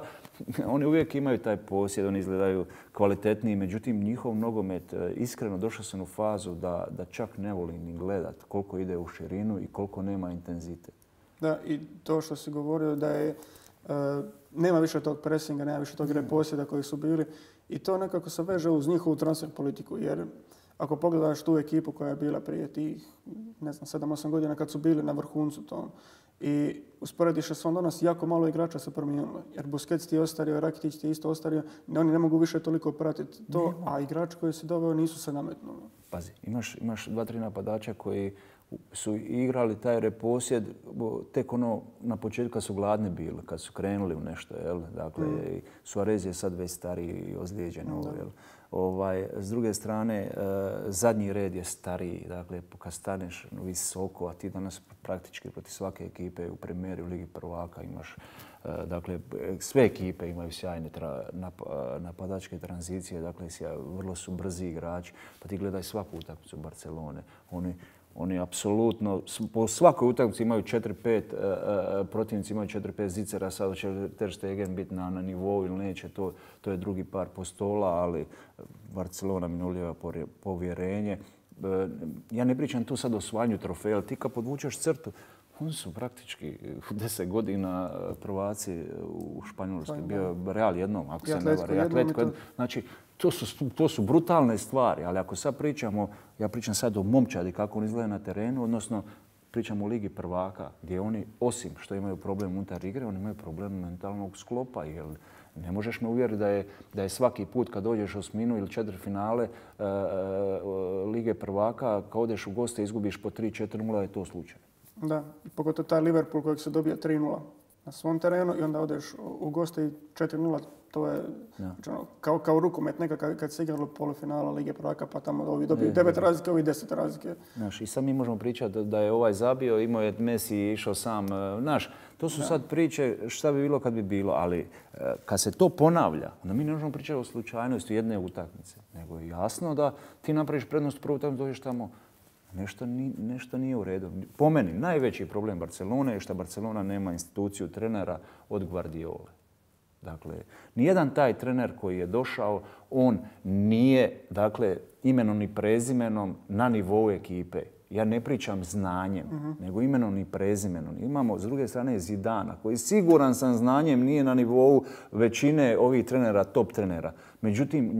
oni uvijek imaju taj posjed, oni izgledaju kvalitetniji. Međutim, njihov nogomet, iskreno došao sam u fazu da čak ne volim ni gledat koliko ide u širinu i koliko nema intenzitet. Da, i to što si govorio da je nema više tog presinga, nema više tog posjeda koji su bili i to nekako se veže uz njihovu transfer politiku, jer ako pogledaš tu ekipu koja je bila prije tih, 7-8 godina kad su bili na vrhuncu tom i usporediš se s danas, jako malo igrača se promijenilo, jer Busquets ti je ostario, Rakitic ti je isto ostario, oni ne mogu više toliko pratiti to, a igrači koji si doveo nisu se nametnuli. Pazi, imaš 2-3 napadača koji su igrali taj reposjed tek na početku kad su gladni bili, kad su krenuli u nešto. Dakle, Suarez je sad već stariji i ozlijeđen. S druge strane, zadnji red je stariji. Dakle, kad staneš visoko, a ti danas praktički protiv svake ekipe u premijeri u Ligi prvaka imaš. Dakle, sve ekipe imaju sjajne napadačke tranzicije. Dakle, vrlo su brzi igrači. Pa ti gledaj svaku utakmicu Barcelone. Oni apsolutno, po svakoj utakmici imaju 4-5, protivnici imaju 4-5 zicera, sad će Ter Stegen biti na nivou ili neće, to je drugi par postola, ali Barcelona mi ne ulijeva povjerenje. Ja ne pričam tu sad o osvajanju trofeja, ali ti kad podvučeš crtu, oni su praktički 10 godina prvaci u Španjolskoj. Bio Real jednom, ako se ne varam. Atletico jednom. Znači, to su brutalne stvari, ali ako sad pričamo, ja pričam sad o momčadi kako oni izgledaju na terenu, odnosno pričamo o Ligi prvaka, gdje oni, osim što imaju problem unutar igre, oni imaju problem mentalnog sklopa. Jer ne možeš me uvjeriti da je svaki put kad dođeš u osminu ili četvrtfinale Lige prvaka, kad odeš u goste i izgubiš po 3-4-0, je to slučaj. Da, pogotovo taj Liverpool kojeg se dobija 3-0 na svom terenu i onda odeš u goste i 4-0 To je kao rukomet nekad kad se igralo polufinala Lige prvaka, pa tamo ovi dobiju 9 razlike, ovi 10 razlike. Znaš, i sad mi možemo pričati da je ovaj zabio, imao je Messi išao sam. Znaš, to su sad priče šta bi bilo kad bi bilo, ali kad se to ponavlja, onda mi ne možemo pričati o slučajnosti jedne utakmice. Nego je jasno da ti napraviš prednost prvu utakmicu, dođeš tamo, nešto nije u redu. Po meni, najveći problem Barcelone je što Barcelona nema instituciju trenera od Guardiole. Dakle, nijedan taj trener koji je došao, on nije, dakle, imenom i prezimenom na nivou ekipe. Ja ne pričam znanjem, nego imenom i prezimenom. Imamo, s druge strane, Zidana, koji siguran sam znanjem nije na nivou većine ovih trenera, top trenera. Međutim,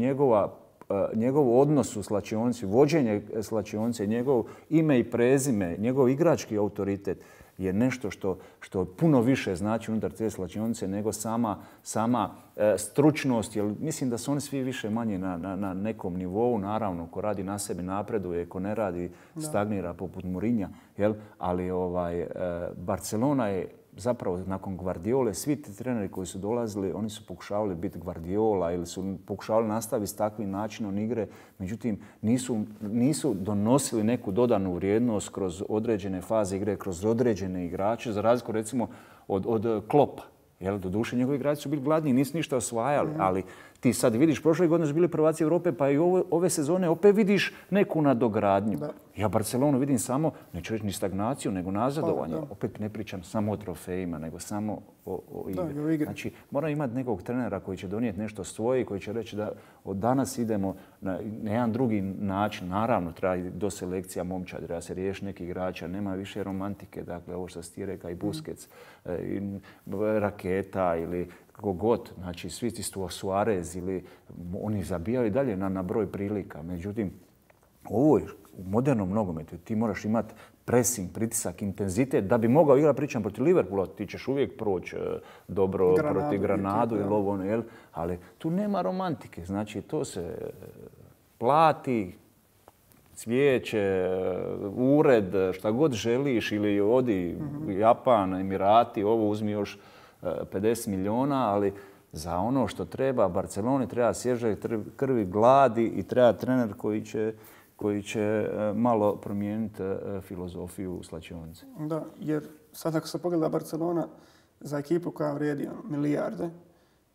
njegov odnos u slačionici, vođenje slačionice, njegov ime i prezime, njegov igrački autoritet je nešto što puno više znači unutar te slačionice nego sama stručnost. Jer mislim da su oni svi više manje na nekom nivou. Naravno, ko radi na sebi napreduje, ko ne radi stagnira poput Mourinha. Ali Barcelona je zapravo nakon Guardiole, svi ti treneri koji su dolazili, oni su pokušavali biti Guardiola ili su pokušavali nastaviti s takvim načinom igre. Međutim, nisu donosili neku dodanu vrijednost kroz određene faze igre, kroz određene igrače, za razliku recimo od Kloppa. Doduše, njegovi igrači su bili gladni i nisu ništa osvajali, ali ti sad vidiš, prošle godine su bili prvaci Europe, pa i ove sezone opet vidiš neku nadogradnju. Ja Barcelonu vidim samo, neću reći ni stagnaciju, nego nazadovanje. Opet ne pričam samo o trofejima, nego samo o igri. Znači, mora imati nekog trenera koji će donijeti nešto svoje i koji će reći da od danas idemo na jedan drugi način. Naravno, treba do selekcija momčad, treba se riješiti neki igrača, nema više romantike. Dakle, ovo što si ti rekao i Busquets, i Raketa ili kako god. Znači, svi ti Suarez ili oni zabijaju dalje na broj prilika. Međutim, ovo je u modernom nogometu. Ti moraš imati pressing, pritisak, intenzitet da bi mogao igrati, pričam protiv Liverpoola, ti ćeš uvijek proći dobro protiv Granadu ili ovo, ali tu nema romantike. Znači, to se plati, cvijeće, ured, šta god želiš ili odi Japan, Emirati, ovo uzmi još 50 milijuna, ali za ono što treba Barceloni treba svježe krvi, gladi i treba trener koji će malo promijeniti filozofiju slačionice. Da, jer sad ako se pogleda Barcelona za ekipu koja vrijedi milijarde,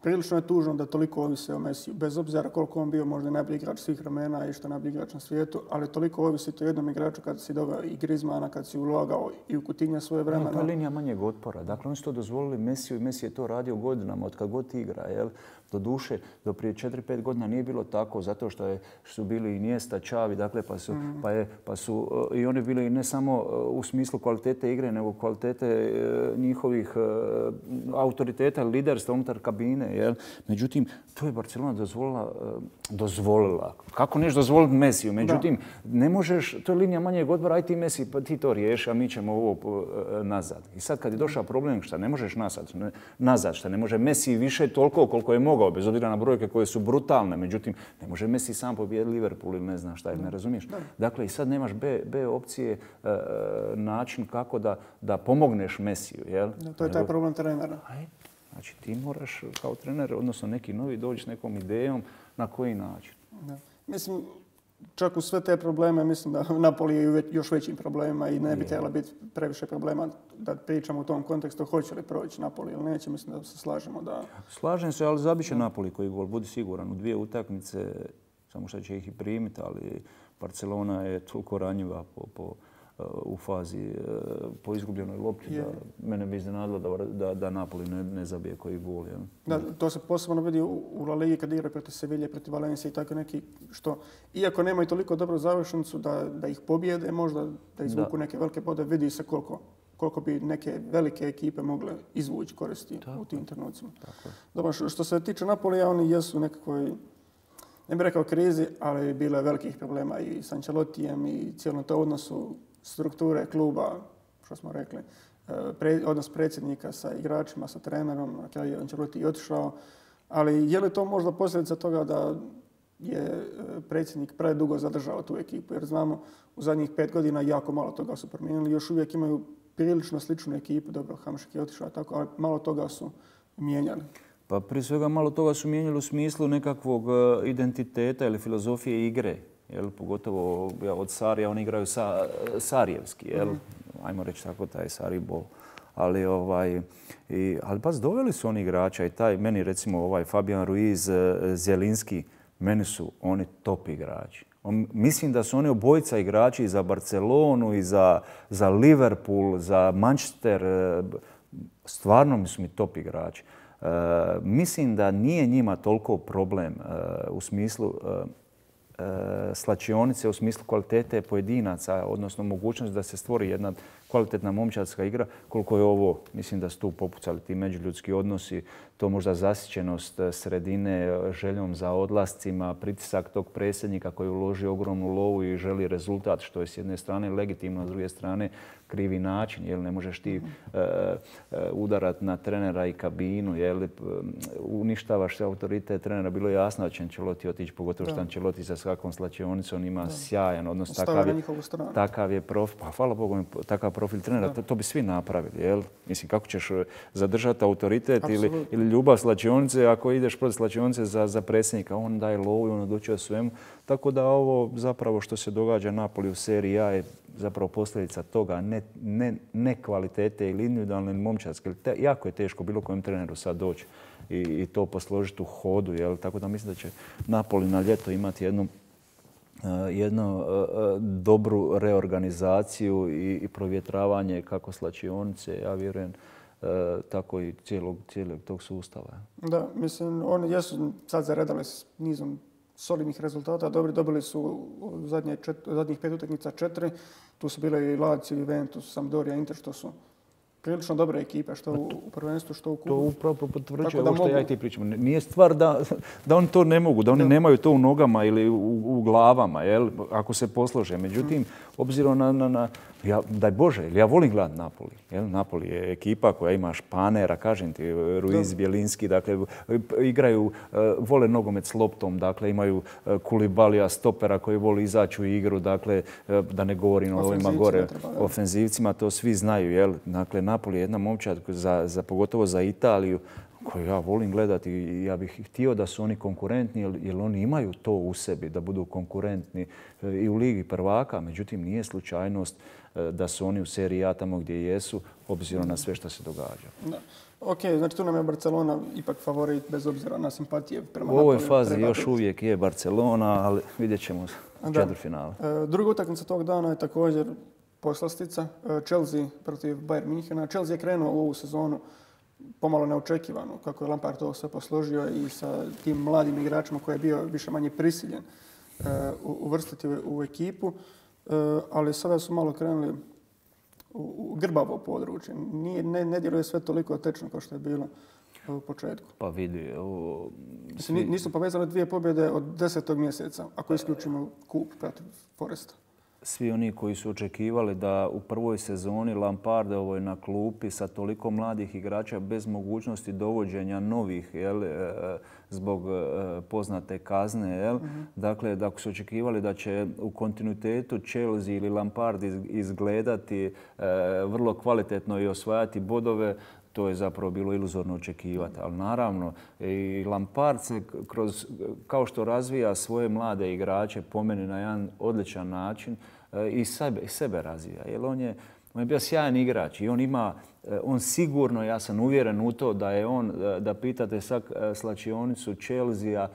prilično je tužno da toliko ovisi o Messiju. Bez obzira koliko on bio možda najbolji igrač svih vremena i što je najbolji igrač na svijetu, ali toliko ovisi o jednom igraču kad si doveo i Griezmana, kad si ulagao i u Coutinha svoje vremena. To je linija manjeg otpora. Dakle, oni su to dozvolili Messiju i Messi je to radio godinama, od kad god igra. Doduše, do prije 4-5 godina nije bilo tako, zato što su bili i Iniesta, Xavi, dakle, pa su i oni bili ne samo u smislu kvalitete igre, nego kvalitete njihovih autoriteta, liderstva unutar kabine. Međutim, to je Barcelona dozvolila. Kako neš dozvoliti Messiju? Međutim, ne možeš, to je linija manjeg odbora, aj ti Messi, pa ti to riješi, a mi ćemo ovo nazad. I sad kad je došao problem, šta ne možeš nazad, šta ne može Messi više toliko koliko je mogao, bez obzira na brojke koje su brutalne. Međutim, ne može Messi sam pobijediti Liverpool ili ne znam šta, ne razumiješ. Dakle, i sad nemaš B opcije, način kako da pomogneš Messiju. To je taj problem trenera. Znači, ti moraš kao trener, odnosno neki novi, doći s nekom idejom na koji način. Mislim, čak u sve te probleme, mislim da Napoli je u još većim problemima i ne bi trebalo biti previše problema da pričamo u tom kontekstu hoće li proći Napoli ili neće. Mislim da se slažemo da... Slažem se, ali zabit će Napoli koji gol, budi siguran. U 2 utakmice, samo što će ih i primiti, ali Barcelona je toliko ranjiva u fazi po izgubljenoj lopti da mene bi iznenadilo da Napoli ne zabije koji gol. Da, to se posebno vidi u La Ligi kad igra protiv Sevilje, protiv Valencije i tako neki što, iako nemaju toliko dobru završnicu da ih pobjede, možda da izvuku neke velike bodove, vidi se koliko bi neke velike ekipe mogle izvući koristi u tim trenucima. Dobro, što se tiče Napolija, oni jesu nekakvoj, ne bih rekao krizi, ali bilo je velikih problema i s Ancelottijem i cijelom to odnosu strukture kluba, što smo rekli, odnos predsjednika sa igračima, sa trenerom, na kraju je Ancelotti otišao. Ali je li to možda posljedica toga da je predsjednik predugo zadržao tu ekipu? Jer znamo, u zadnjih 5 godina jako malo toga su promijenili. Još uvijek imaju prilično sličnu ekipu. Dobro, Hamšik je otišao tako, ali malo toga su mijenjali. Pa prije svega malo toga su mijenjali u smislu nekakvog identiteta ili filozofije igre. Pogotovo od Sarija oni igraju sarijevski, ajmo reći tako, taj Saribol. Ali baš doveli su oni igrača i taj, meni recimo Fabian Ruiz, Zielinski, meni su oni top igrači. Mislim da su oni obojica igrači za Barcelonu i za Liverpool, za Manchester. Stvarno su mi top igrači. Mislim da nije njima toliko problem u smislu slačionice, u smislu kvalitete pojedinaca, odnosno mogućnost da se stvori jedna kvalitetna momčadska igra, koliko je ovo, mislim da su tu popucali ti međuljudski odnosi, to možda zasićenost sredine, željom za odlascima, pritisak tog predsjednika koji uloži ogromnu lovu i želi rezultat, što je s jedne strane legitimno, s druge strane krivi način, jer ne možeš ti udarat na trenera i kabinu, uništavaš autoritet trenera. Bilo je jasno da će Ancelotti otići, pogotovo što Ancelotti sa svakom slačionicom ima sjajan odnos. Takav je profil, pa hvala Bogu, takav profil trenera, to bi svi napravili. Mislim, kako ćeš zadržati autoritet ili ljubav slačionice ako ideš protiv slačionice za predsjednika? On daje lovu i on odlučuje o svemu. Tako da ovo zapravo što se događa Napoli u seriji A je zapravo posljedica toga, ne kvalitete ili individualne ili momčadske. Jako je teško bilo kojem treneru sad doći i to posložiti u hodu. Tako da mislim da će Napoli na ljeto imati jednu dobru reorganizaciju i provjetravanje kako slačionice, ja vjerujem, tako i cijelog tog sustava. Da, mislim, oni jesu sad zaredali s nizom solidnih rezultata. Dobili su zadnjih 5 utakmica 4. Tu su bile i Lazio, Juventus, Sampdoria, Inter, što su prilično dobre ekipe, što u prvenstvu, što u kupu. To upravo potvrđuje ovo što ja i ti pričam. Nije stvar da oni to ne mogu, da oni nemaju to u nogama ili u glavama, ako se poslože. Međutim, obzirom na daj Bože, ja volim gledati Napoli. Napoli je ekipa koja ima španera, kažem ti, Ruiz, Bielinski, dakle, igraju, vole nogomet s loptom, dakle, imaju Kulibalija, stopera koji voli izaći u igru, dakle, da ne govorim o ovima gore ofenzivcima, to svi znaju. Dakle, Napoli je jedna momčad, pogotovo za Italiju, koju ja volim gledati i ja bih htio da su oni konkurentni jer oni imaju to u sebi, da budu konkurentni i u Ligi prvaka. Međutim, nije slučajnost da su oni u seriji A tamo gdje jesu, obzirom na sve što se događa. Da. Ok, znači tu nam je Barcelona ipak favorit bez obzira na simpatije prema Napoliju. U ovoj fazi još uvijek je Barcelona, ali vidjet ćemo u četvrtfinalu. Druga utakmica tog dana je također poslastica. Chelsea protiv Bayern Minhena. Chelsea je krenuo u ovu sezonu pomalo neočekivano, kako je Lampard to sve posložio i sa tim mladim igračima koji je bio više manje prisiljen uvrstiti u ekipu, ali sada su malo krenuli u grbavo područje. Ne djeluje sve toliko tečno kao što je bilo u početku. Pa vidi. Nisu povezali 2 pobjede od 10. mjeseca, ako isključimo kup protiv Foresta. Svi oni koji su očekivali da u prvoj sezoni Lampardovoj na klupi sa toliko mladih igrača bez mogućnosti dovođenja novih zbog poznate kazne. Dakle, da su očekivali da će u kontinuitetu Chelsea ili Lampard izgledati vrlo kvalitetno i osvajati bodove, to je zapravo bilo iluzorno očekivati. Ali naravno, i Lampard se kao što razvija svoje mlade igrače, po meni na jedan odličan način, i sebe razvija. Jer on je bio sjajan igrač i on sigurno, ja sam uvjeren u to da je on, da pitate sad slačionicu Chelsea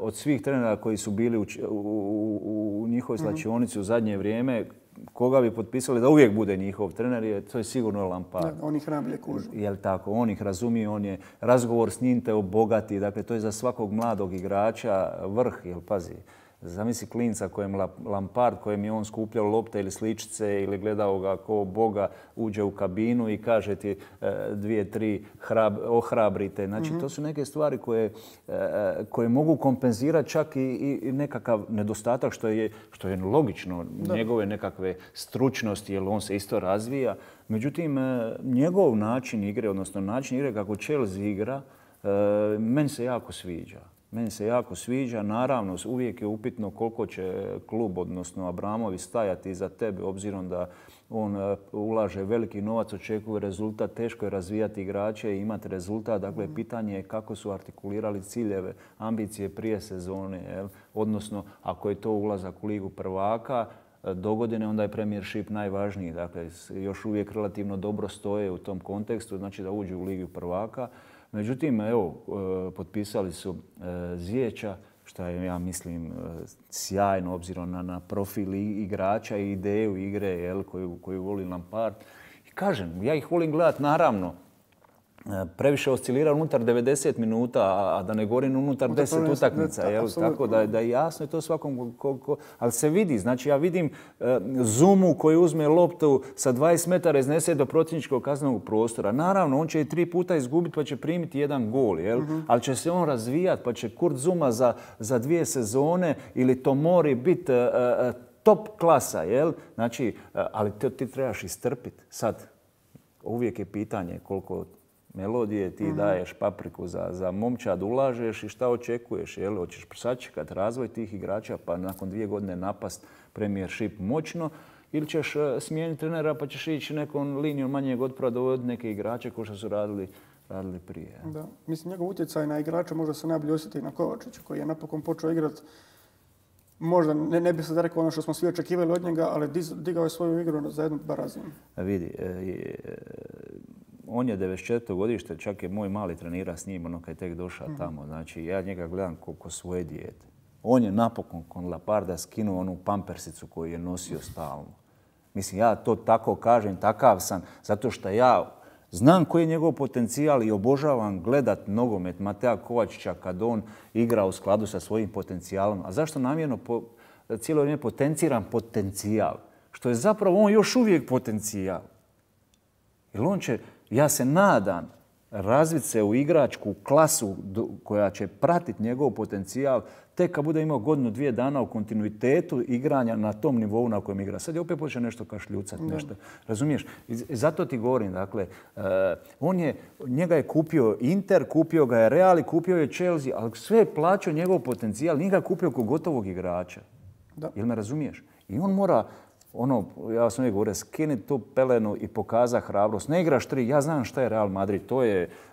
od svih trenera koji su bili u njihovoj slačionici u zadnje vrijeme, koga bi potpisali da uvijek bude njihov trener, to je sigurno Lampard. On ih najbolje kuži. Jel tako? On ih razumije, on je razgovor s njim te obogati. Dakle, to je za svakog mladog igrača vrh, jel pazi. Zamisli klinca kojem Lampard, kojem je on skupljao lopte ili sličice ili gledao ga kao Boga, uđe u kabinu i kaže ti 2, 3 ohrabrite. Znači, to su neke stvari koje mogu kompenzirati čak i nekakav nedostatak što je logično, njegove nekakve stručnosti, jer on se isto razvija. Međutim, njegov način igre, odnosno način igre kako Chelsea igra, meni se jako sviđa. Meni se jako sviđa. Naravno, uvijek je upitno koliko će klub, odnosno Abramović, stajati iza tebe, obzirom da on ulaže veliki novac, očekuje rezultat, teško je razvijati igrače i imati rezultat. Dakle, pitanje je kako su artikulirali ciljeve, ambicije prije sezone. Jel? Odnosno, ako je to ulazak u Ligu prvaka, dogodine, onda je Premiership najvažniji. Dakle, još uvijek relativno dobro stoje u tom kontekstu, znači da uđu u Ligu prvaka. Međutim, evo, potpisali su Ziyech'a, što je, ja mislim, sjajno obzirom na profil igrača i ideju igre, jel, koju voli Lampard. I kažem, ja ih volim gledati, naravno, previše oscilira unutar 90 minuta, a da ne govorim unutar 10 utakmica. Jel? Tako da je jasno je to svakom ali se vidi. Znači ja vidim Zumu koji uzme loptu sa 20 metara iznese do protivničkog kaznenog prostora. Naravno, on će i 3 puta izgubiti pa će primiti jedan gol. Jel? Ali će se on razvijati pa će Kurt Zuma za 2 sezone ili Tomori biti top klasa. Jel? Znači, ali ti trebaš istrpiti. Sad, uvijek je pitanje koliko melodije ti daješ papriku za momčad, ulažeš i šta očekuješ? Jel? Hoćeš sačekati razvoj tih igrača pa nakon 2 godine napast Premiership moćno ili ćeš smijeniti trenera pa ćeš ići nekom linijom manjeg otpora dovoditi neke igrače kao što su radili prije. Da. Mislim, njegov utjecaj na igrača možda se najbolje osjeti na Kovačića koji je napokon počeo igrati. Možda ne bi sad rekao ono što smo svi očekivali od njega, ali digao je svoju igru za jednu razinu. Vidi, on je 94. godište, čak je moj mali trenira s njim, ono kad je tek došao tamo. Znači, ja njega gledam ko svoje dijete. On je napokon kod Lamparda skinuo onu pampersicu koju je nosio stalno. Mislim, ja to tako kažem, takav sam, zato što ja znam koji je njegov potencijal i obožavam gledat nogomet Matea Kovačića kad on igra u skladu sa svojim potencijalom. A zašto namjerno cijelo vrijeme potenciram potencijal? Što je zapravo on još uvijek potencijal. Jer on će, ja se nadam, razviti se u igračku klasu koja će pratiti njegov potencijal tek kad bude imao 1-2 dana u kontinuitetu igranja na tom nivou na kojem igra. Sad je opet počeo nešto kašljucati, nešto. Razumiješ? I zato ti govorim, dakle, njega je kupio Inter, kupio ga je Real i kupio je Chelsea, ali sve je plaćao njegov potencijal, nije ga kupio kao gotovog igrača. Da. Jel me razumiješ? I on mora, ja sam uvijek govorio, skinuti tu pelenu i pokaza hrabrost. Ne igraš 3, ja znam šta je Real Madrid,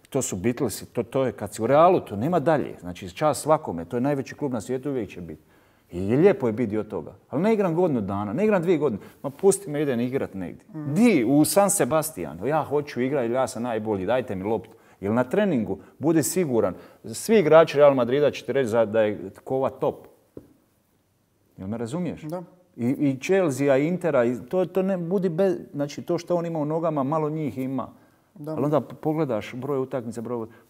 to su Beatlesi, to je kad si u Realu, to nema dalje. Znači, čast svakome, to je najveći klub na svijetu, uvijek će biti. I lijepo je biti dio toga. Ali ne igram 1 dana, ne igram 2 godine. Ma pusti me, idem igrat negdje. Di, u San Sebastian. Ja hoću igrati, ja sam najbolji, dajte mi loptu. Ili na treningu, budi siguran. Svi igrači Real Madrida će ti reći da je Kova top. Jel me razumiješ? Da. I Chelsea, i Intera, to ne budi bez, znači to što on ima u nogama, malo njih ima. Da. Ali onda pogledaš broj utakmica,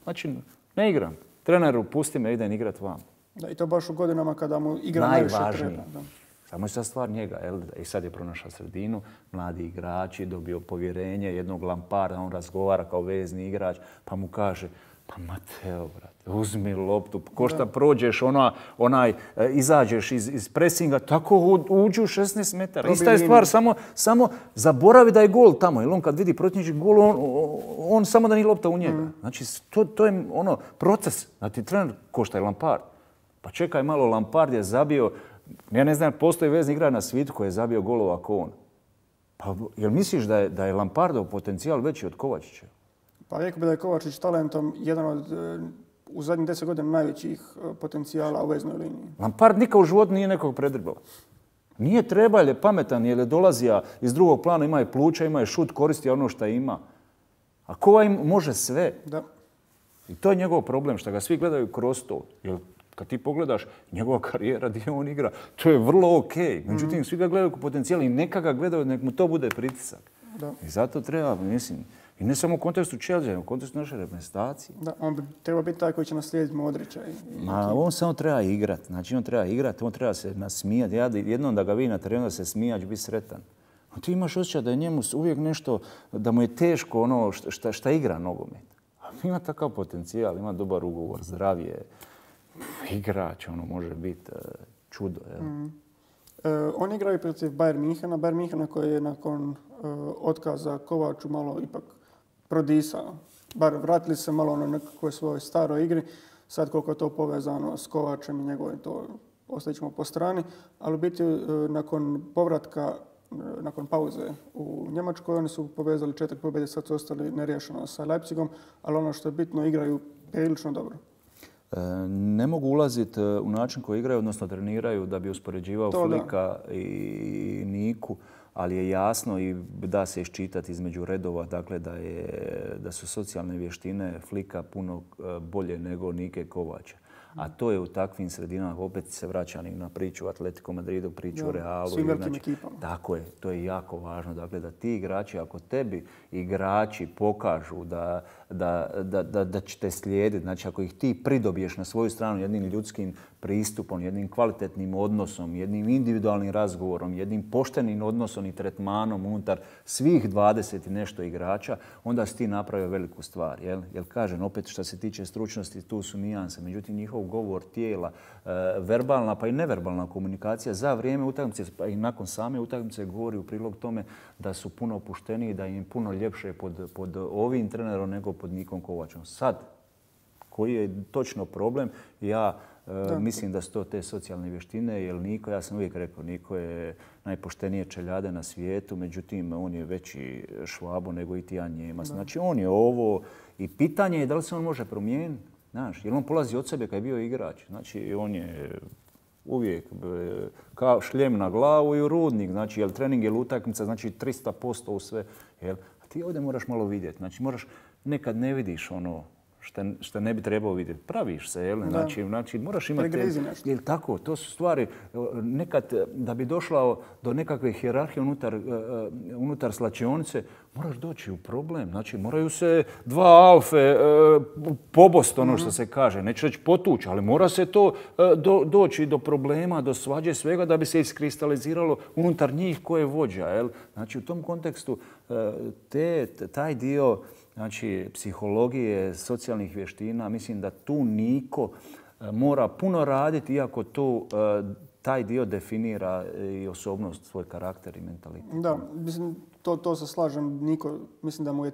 znači ne igram. Treneru, pusti me, idem igrat vam. Da, i to baš u godinama kada mu igra najviše treba. Da. Samo je sad stvar njega. Jel? I sad je pronašao sredinu, mladi igrači, dobio povjerenje jednog Lamparda, on razgovara kao vezni igrač, pa mu kaže, pa Mateo, brate, uzmi loptu, ko šta prođeš, izađeš iz presinga, tako uđu u 16 metara. Ista je stvar, samo zaboravi da je gol tamo, jer on kad vidi protivnički gol, on samo da nije lopta u njega. Znači, to je proces. Znači, trener ko šta je Lampard. Pa čekaj malo, Lampard je zabio, ja ne znam, postoji vezni igrač na svijetu koji je zabio golova kao on. Pa jel misliš da je Lampardov potencijal veći od Kovačića? Pa rekao bi da je Kovačić talentom jedan od u zadnjih 10 godina najvećih potencijala u veznoj liniji. Lampard nikad u životu nije nekog predribala. Nije treba, jer je pametan, jer je dolazija iz drugog plana, ima je pluća, ima je šut, koristi ono što ima. A Kova im može sve. Da. I to je njegov problem, što ga svi gledaju kroz to. Jer kad ti pogledaš njegova karijera gdje on igra, to je vrlo okej. Međutim, svi ga gledaju kao potencijal i neka ga gledaju, nek mu to bude pritisak. Da. I zato treba, mislim, i ne samo u kontekstu Chelsea, u kontekstu naše reprezentacije. Da, on treba biti taj koji će naslijediti Modrića. On samo treba igrati. Znači, on treba se nasmijati. Ja jednom da ga vidi na terenu da se smija, će biti sretan. A ti imaš osjećaj da je njemu uvijek nešto, da mu je teško ono šta igra nogomet. A ima takav potencijal, ima dobar ugovor, zdravije, igrač, može biti čudo. On igrao i protiv Bayern Minhena. Bayern Minhena koji je nakon otkaza Kovaču malo ipak prodisao. Bar vratili se malo na nekakvoj svojoj staroj igri. Sad koliko je to povezano s Kovačem i njegovim, to ostavit ćemo po strani, ali u biti nakon povratka, nakon pauze u Njemačkoj, oni su povezali 4 pobjede, sad su ostali neriješeno sa Leipzigom, ali ono što je bitno, igraju prilično dobro. Ne mogu ulaziti u način koji igraju, odnosno treniraju, da bi uspoređivao Flika i Niku, ali je jasno i da se iščitati između redova, dakle da su socijalne vještine Flika puno bolje nego Nike Kovača. A to je u takvim sredinama, opet se vraćam na priču o Atletico Madridu, priču o Realu. Svim velikim ekipama. Tako je, to je jako važno. Dakle, da ti igrači, ako tebi igrači pokažu da će te slijediti, znači ako ih ti pridobiješ na svoju stranu jednim ljudskim pristupom, jednim kvalitetnim odnosom, jednim individualnim razgovorom, jednim poštenim odnosom i tretmanom unutar svih 20 i nešto igrača, onda si ti napravio veliku stvar. Jer kažem, opet što se tiče stručnosti, tu su nijanse. Međutim, njihov govor tijela, verbalna pa i neverbalna komunikacija za vrijeme utakmice pa i nakon same utakmice govori u prilog tome da su puno opušteniji, da im je puno ljepše pod ovim trenerom nego pod Nikom Kovačom. Sad, koji je točno problem, ja mislim da su to te socijalne vještine, jer Niko, ja sam uvijek rekao, Niko je najpoštenije čeljade na svijetu, međutim on je veći Švabo nego i Tijan Njemac. Znači on je ovo i pitanje je da li se on može promijeniti. Znaš, jer on polazi od sebe kad je bio igrač. Znači on je uvijek kao šljem na glavu i u rudnik. Znači jel trening, jel utakmica, znači 300% u sve. A ti ovdje moraš malo vidjeti. Znači moraš, nekad ne vidiš ono što ne bi trebao vidjeti. Praviš se, jel? Znači moraš imati... Jel tako? To su stvari. Nekad da bi došla do nekakve hijerarhije unutar slačionice, moraš doći u problem. Znači moraju se dva alfe pobost, ono što se kaže. Neću reći potući, ali mora se to doći do problema, do svađe, svega da bi se iskristaliziralo unutar njih ko je vođa. Jel? Znači u tom kontekstu taj dio, znači psihologije, socijalnih vještina, mislim da tu Niko mora puno raditi, iako tu taj dio definira i osobnost, svoj karakter i mentalitet. Da, mislim, to se slažem. Niko, mislim da mu je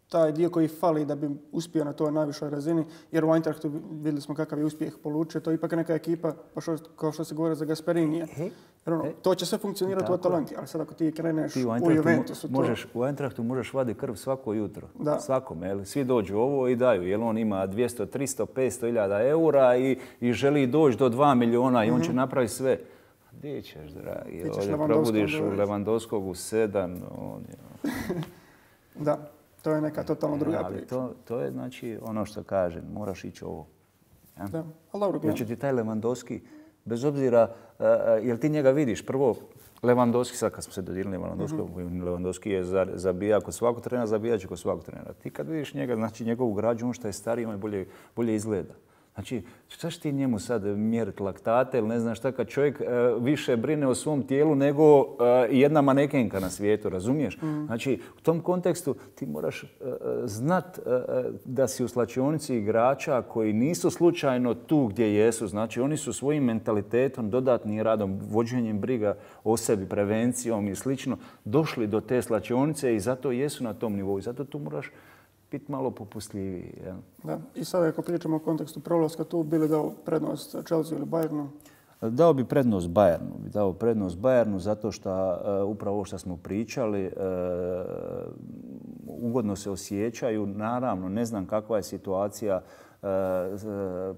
taj dio koji fali da bi uspio na toj najvišoj razini, jer u Eintrachtu vidjeli smo kakav je uspjeh polučio. To je ipak neka ekipa, pa kao što se govori za Gasperini. To će sve funkcionirati u Atalanti, ali sad ako ti kreneš u Juventusu... U Eintrachtu možeš vaditi krv svako jutro. Svakome. Svi dođu ovo i daju. Jer on ima 200, 300, 500 hiljada eura i želi doći do 2 milijuna i on će napraviti sve. Gdje ćeš, dragi? Probudiš Lewandowskog u 7. Da. To je neka totalno druga priča. To je znači ono što kažem, moraš ići ovo. Da, ali dobro gledam. Znači ti taj Lewandowski, bez obzira, jel ti njega vidiš, prvo Lewandowski, sad kad smo se dodirili Lewandowski je zabija kod svakog trenera, zabijat će kod svakog trenera. Ti kad vidiš njega, znači njegovu građu, on što je stariji, on bolje izgleda. Znači, šta će ti njemu sad mjeriti laktate ili ne znam šta, kad čovjek više brine o svom tijelu nego jedna manekenka na svijetu, razumiješ? Znači, u tom kontekstu ti moraš znat da si u slačionici igrača koji nisu slučajno tu gdje jesu. Znači, oni su svojim mentalitetom, dodatnim radom, vođenjem briga o sebi, prevencijom i slično, došli do te slačionice i zato jesu na tom nivou. I zato tu moraš biti malo popustljiviji. Ja. Da. I sada ako pričamo o kontekstu prolaska, tu bi li dao prednost Chelsea ili Bayernu? Dao bi prednost Bayernu zato što upravo ovo što smo pričali, ugodno se osjećaju. Naravno, ne znam kakva je situacija.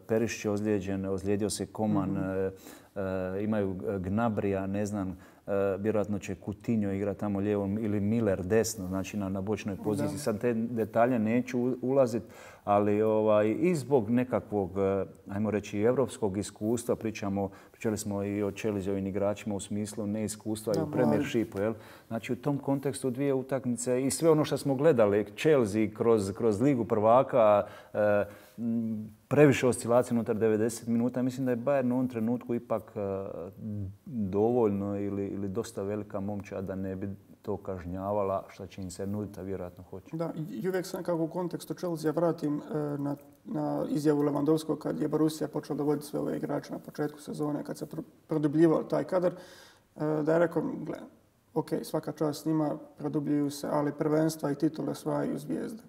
Perišić je ozlijeđen, ozlijedio se Koman, imaju Gnabrija, ne znam. Vjerojatno će Coutinho igrati tamo lijevo ili Miller desno, znači na bočnoj poziciji. Sad te detalje neću ulaziti, ali i zbog nekakvog, ajmo reći, evropskog iskustva, pričali smo i o Chelseaovim igračima u smislu neiskustva i u Premiershipu. Znači u tom kontekstu dvije utakmice i sve ono što smo gledali, Chelsea kroz Ligu prvaka, previše oscilacije unutar 90 minuta. Mislim da je Bayern u ovom trenutku ipak dovoljno ili dosta velika momčad da ne bi to kažnjavala, što će im se nuditi, a vjerojatno hoće. Da, i uvijek se nekako u kontekstu Chelsea vratim na izjavu Lewandowskog kad je Borussia počela dovoditi sve ove igrače na početku sezone, kad se produbljivao taj kadar, da je rekao, ok, svaka čast s njima, produbljuju se, ali prvenstva i titule osvajaju zvijezde.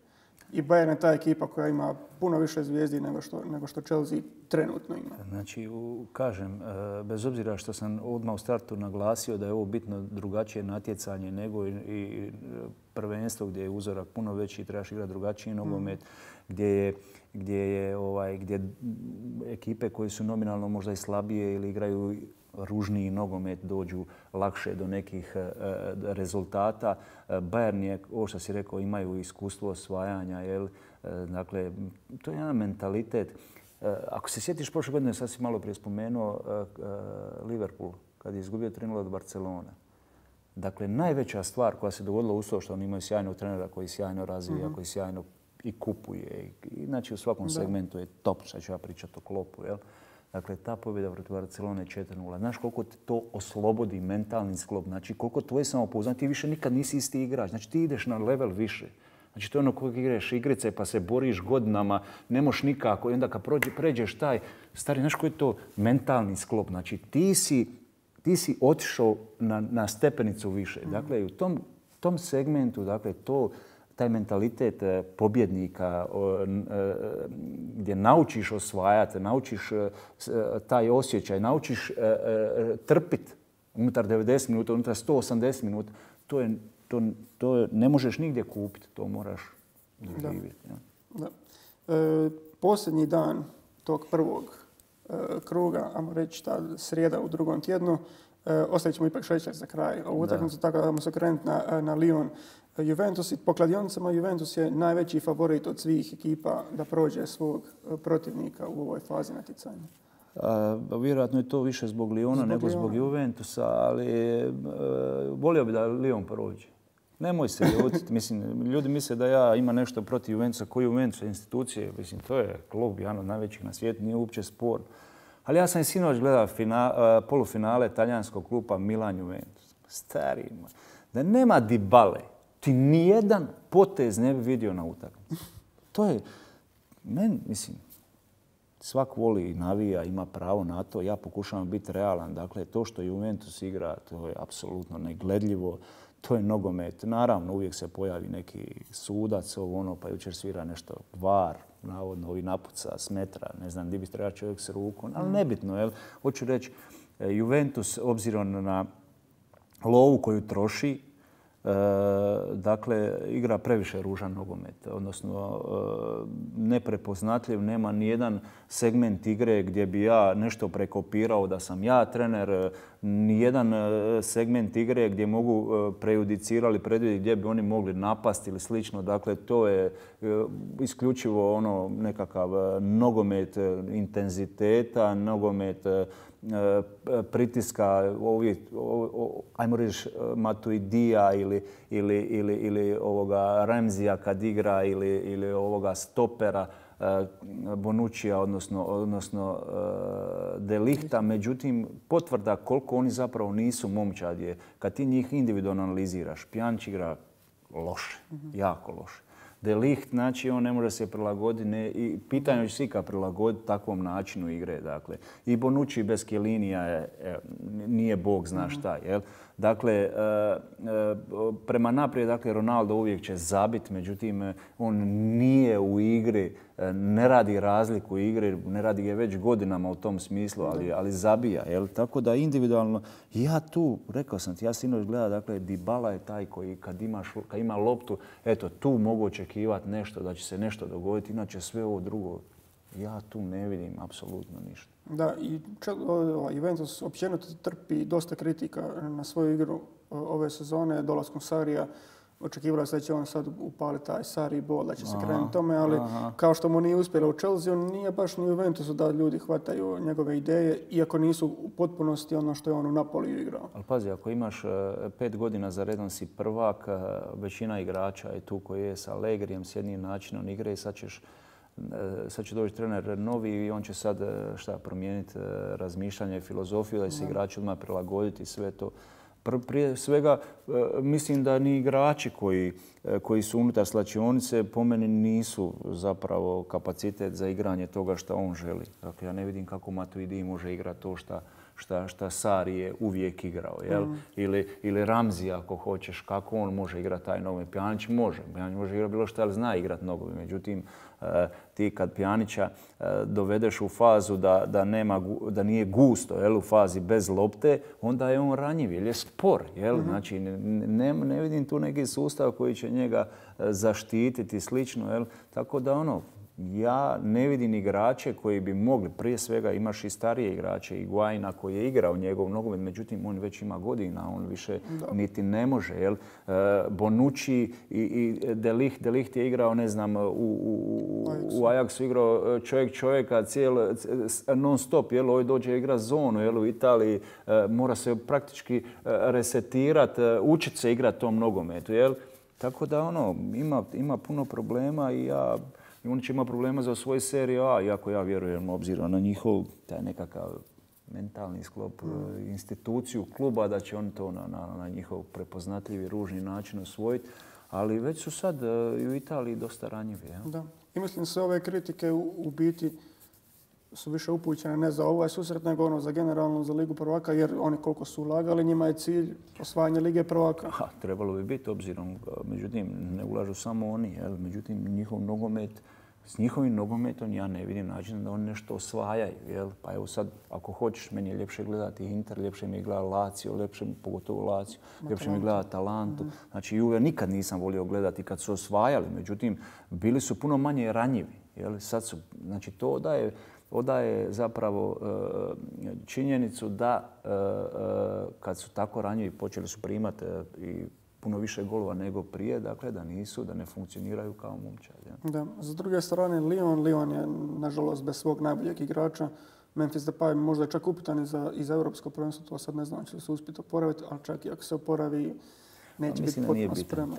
i Bayern je ta ekipa koja ima puno više zvijezdi nego što Chelsea trenutno ima. Znači, kažem, bez obzira što sam odmah u startu naglasio da je ovo bitno drugačije natjecanje nego i prvenstvo gdje je uzorak puno veći i trebaš igrati drugačiji nogomet, gdje ekipe koje su nominalno možda i slabije ili igraju ružniji nogomet dođu lakše do nekih rezultata. Bayern je, ovo što si rekao, imaju iskustvo osvajanja. Dakle, to je jedan mentalitet. Ako se sjetiš prošle godine, sad si malo prije spomenuo Liverpool kad je izgubio 3-0 od Barcelone. Dakle, najveća stvar koja se dogodila uz to što oni imaju sjajnog trenera koji sjajno razvija, koji sjajno i kupuje. Znači, u svakom segmentu je top. Sad ću ja pričati o Kloppu. Dakle, ta pobjeda protiv Barcelone 4-0. Znaš koliko te to oslobodi mentalni sklop. Znači, koliko tvoje samopouzdanje. Ti više nikad nisi isti igrač. Znači, ti ideš na level više. Znači, to je ono koliko igraš igrice pa se boriš godinama, ne moš nikako. I onda kad pređeš taj, stari, znaš koji je to mentalni sklop. Znači, ti si otišao na stepenicu više. Dakle, u tom segmentu, dakle, taj mentalitet pobjednika gdje naučiš osvajati, naučiš taj osjećaj, naučiš trpiti unutar 90 minuta, unutar 180 minuta, to ne možeš nigdje kupiti, to moraš doživjeti. Da. Posljednji dan tog prvog kruga, ajmo reći ta srijeda u drugom tjednu, ostavit ćemo ipak šećer za kraj ovu utakmicu, tako da ćemo se okrenuti na Lyon. Juventus, po kladionicama Juventus je najveći favorit od svih ekipa da prođe svog protivnika u ovoj fazi natjecanja. Vjerojatno je to više zbog Lyona nego zbog Juventusa, ali volio bi da Lyon prođe. Nemoj se ljutiti. Mislim, ljudi misle da ja imam nešto protiv Juventusa. Koji Juventus institucije? Mislim, to je klub jedan od najvećih na svijetu, nije uopće spor. Ali ja sam i sinoć gledao polufinale talijanskog kluba Milan-Juventus. Stari, da nema Dybale, ti nijedan potez ne bi vidio na utakmici. To je, mislim, svak voli i navija, ima pravo na to. Ja pokušavam biti realan. Dakle, to što Juventus igra, to je apsolutno negledljivo. To je nogomet. Naravno, uvijek se pojavi neki sudac, pa jučer svira nešto VAR, navodno ovi napuca s metra, ne znam di bi trebao čovjek s rukom, ali nebitno. Jel? Hoću reći, Juventus, obzirom na lovu koju troši, dakle, igra previše ružan nogomet, odnosno neprepoznatljiv, nema nijedan segment igre gdje bi ja nešto prekopirao da sam ja trener, nijedan segment igre gdje mogu prejudicirati, predvidjeti gdje bi oni mogli napasti ili slično. Dakle, to je isključivo ono nekakav nogomet intenziteta, nogomet pritiska ajmo reći Matuidija ili ovoga Ramzija kad igra ili ovoga stopera Bonuccija, odnosno De Lijta. Međutim, potvrda koliko oni zapravo nisu momčad je kad ti njih individualno analiziraš. Pjanić igra loše, jako loše. De Ligt, znači, on ne može se prilagoditi i pitanje će se ikad prilagoditi takvom načinu igre. Dakle. I Bonucci bez Chiellinija nije bog zna šta. Jel? Dakle, prema naprijed, dakle, Ronaldo uvijek će zabiti, međutim, on nije u igri, ne radi razliku igre, ne radi je već godinama u tom smislu, ali zabija. Jel? Tako da individualno, ja tu, rekao sam ti, ja sinoć gledam, dakle, Dybala je taj koji kad ima loptu, eto, tu mogu očekivati nešto, da će se nešto dogoditi, inače sve ovo drugo, ja tu ne vidim apsolutno ništa. Da, i Juventus općenito trpi dosta kritika na svoju igru ove sezone, dolaskom Sarija. Očekivalo se da će on sad upaliti taj Sarri bol, da će se krenuti tome, ali kao što mu nije uspjelo u Chelsea, on nije baš ni u Juventusu da ljudi hvataju njegove ideje, iako nisu u potpunosti ono što je on u Napoliju igrao. Ali pazi, ako imaš 5 godina za redom si prvak, većina igrača je tu koji je sa Allegrijem, s jednim načinom igre i sad će doći trener novi i on će sad promijeniti razmišljanje i filozofiju, da se igrači odmah prilagoditi sve to. Prije svega, mislim da ni igrači koji su unutar slačionice po meni nisu zapravo kapacitet za igranje toga što on želi. Dakle, ja ne vidim kako Matuidi može igrati to šta Sarri je uvijek igrao. Jel? Ili Ramzi, ako hoćeš, kako on može igrati taj nogomet. Pjanić može igrati bilo šta, ali zna igrati nogomet. Međutim, ti kad Pjanića dovedeš u fazu da nije gusto, jel, u fazi bez lopte, onda je on ranjiv jer je spor. Jel? Znači, ne vidim tu neki sustav koji će njega zaštititi slično. Jel? Tako da ja ne vidim igrače koji bi mogli, prije svega imaš i starije igrače, i Higuaina koji je igrao njegov nogomet, međutim on već ima godina, on više niti ne može. Jel? Bonucci i De Ligt je igrao, ne znam, u Ajaxu igrao čovjeka non stop, jel? Ovaj dođe igra zonu, jel? U Italiji mora se praktički resetirati, učiti se igrati tom nogometu. Jel? Tako da ima puno problema i oni će imati problema za svoju seriju A, iako ja vjerujem obzirom na njihov taj nekakav mentalni sklop, instituciju kluba, da će oni to na njihov prepoznatljivi, ružni način osvojiti. Ali već su sad i u Italiji dosta ranjivi. Ja? Da. I mislim se ove kritike u biti su više upućene ne za ovaj susret, nego za generalno za Ligu prvaka, jer oni koliko su ulagali, njima je cilj osvajanje Lige prvaka. Trebalo bi biti obzirom, međutim ne ulažu samo oni, jel? Međutim njihov nogomet, s njihovim nogometom ja ne vidim način da oni nešto osvajaju. Jel? Pa evo sad, ako hoćeš, meni je ljepše gledati Inter, ljepše mi je gledati Lazio, pogotovo Lazio, ljepše mi je gledati Atalantu. Znači Juve nikad nisam volio gledati kad su osvajali, međutim bili su puno manje ranjivi. Jel? Sad su, znači to odaje zapravo činjenicu da kad su tako ranjivi počeli su primati i puno više golova nego prije, dakle da ne funkcioniraju kao momčad. Ja. Da. S druge strane, Lyon je nažalost bez svog najboljeg igrača. Memphis Depay možda je čak upitan i za europsko prvenstvo, to sad ne znam će li se uspjeti oporaviti, ali čak i ako se oporavi neće biti potpuno spreman.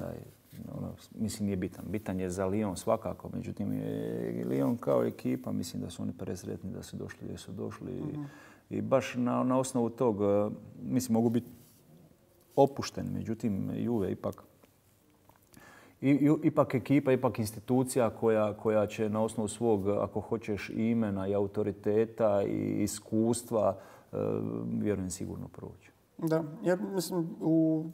Mislim nije bitan. Bitan je za Lyon svakako, međutim Lyon kao ekipa, mislim da su oni presretni da su došli gdje su došli i baš na osnovu tog, mislim mogu biti opušteni, međutim Juve ipak ekipa, ipak institucija koja će na osnovu svog, ako hoćeš, imena i autoriteta i iskustva, vjerujem sigurno proći. Da, jer mislim u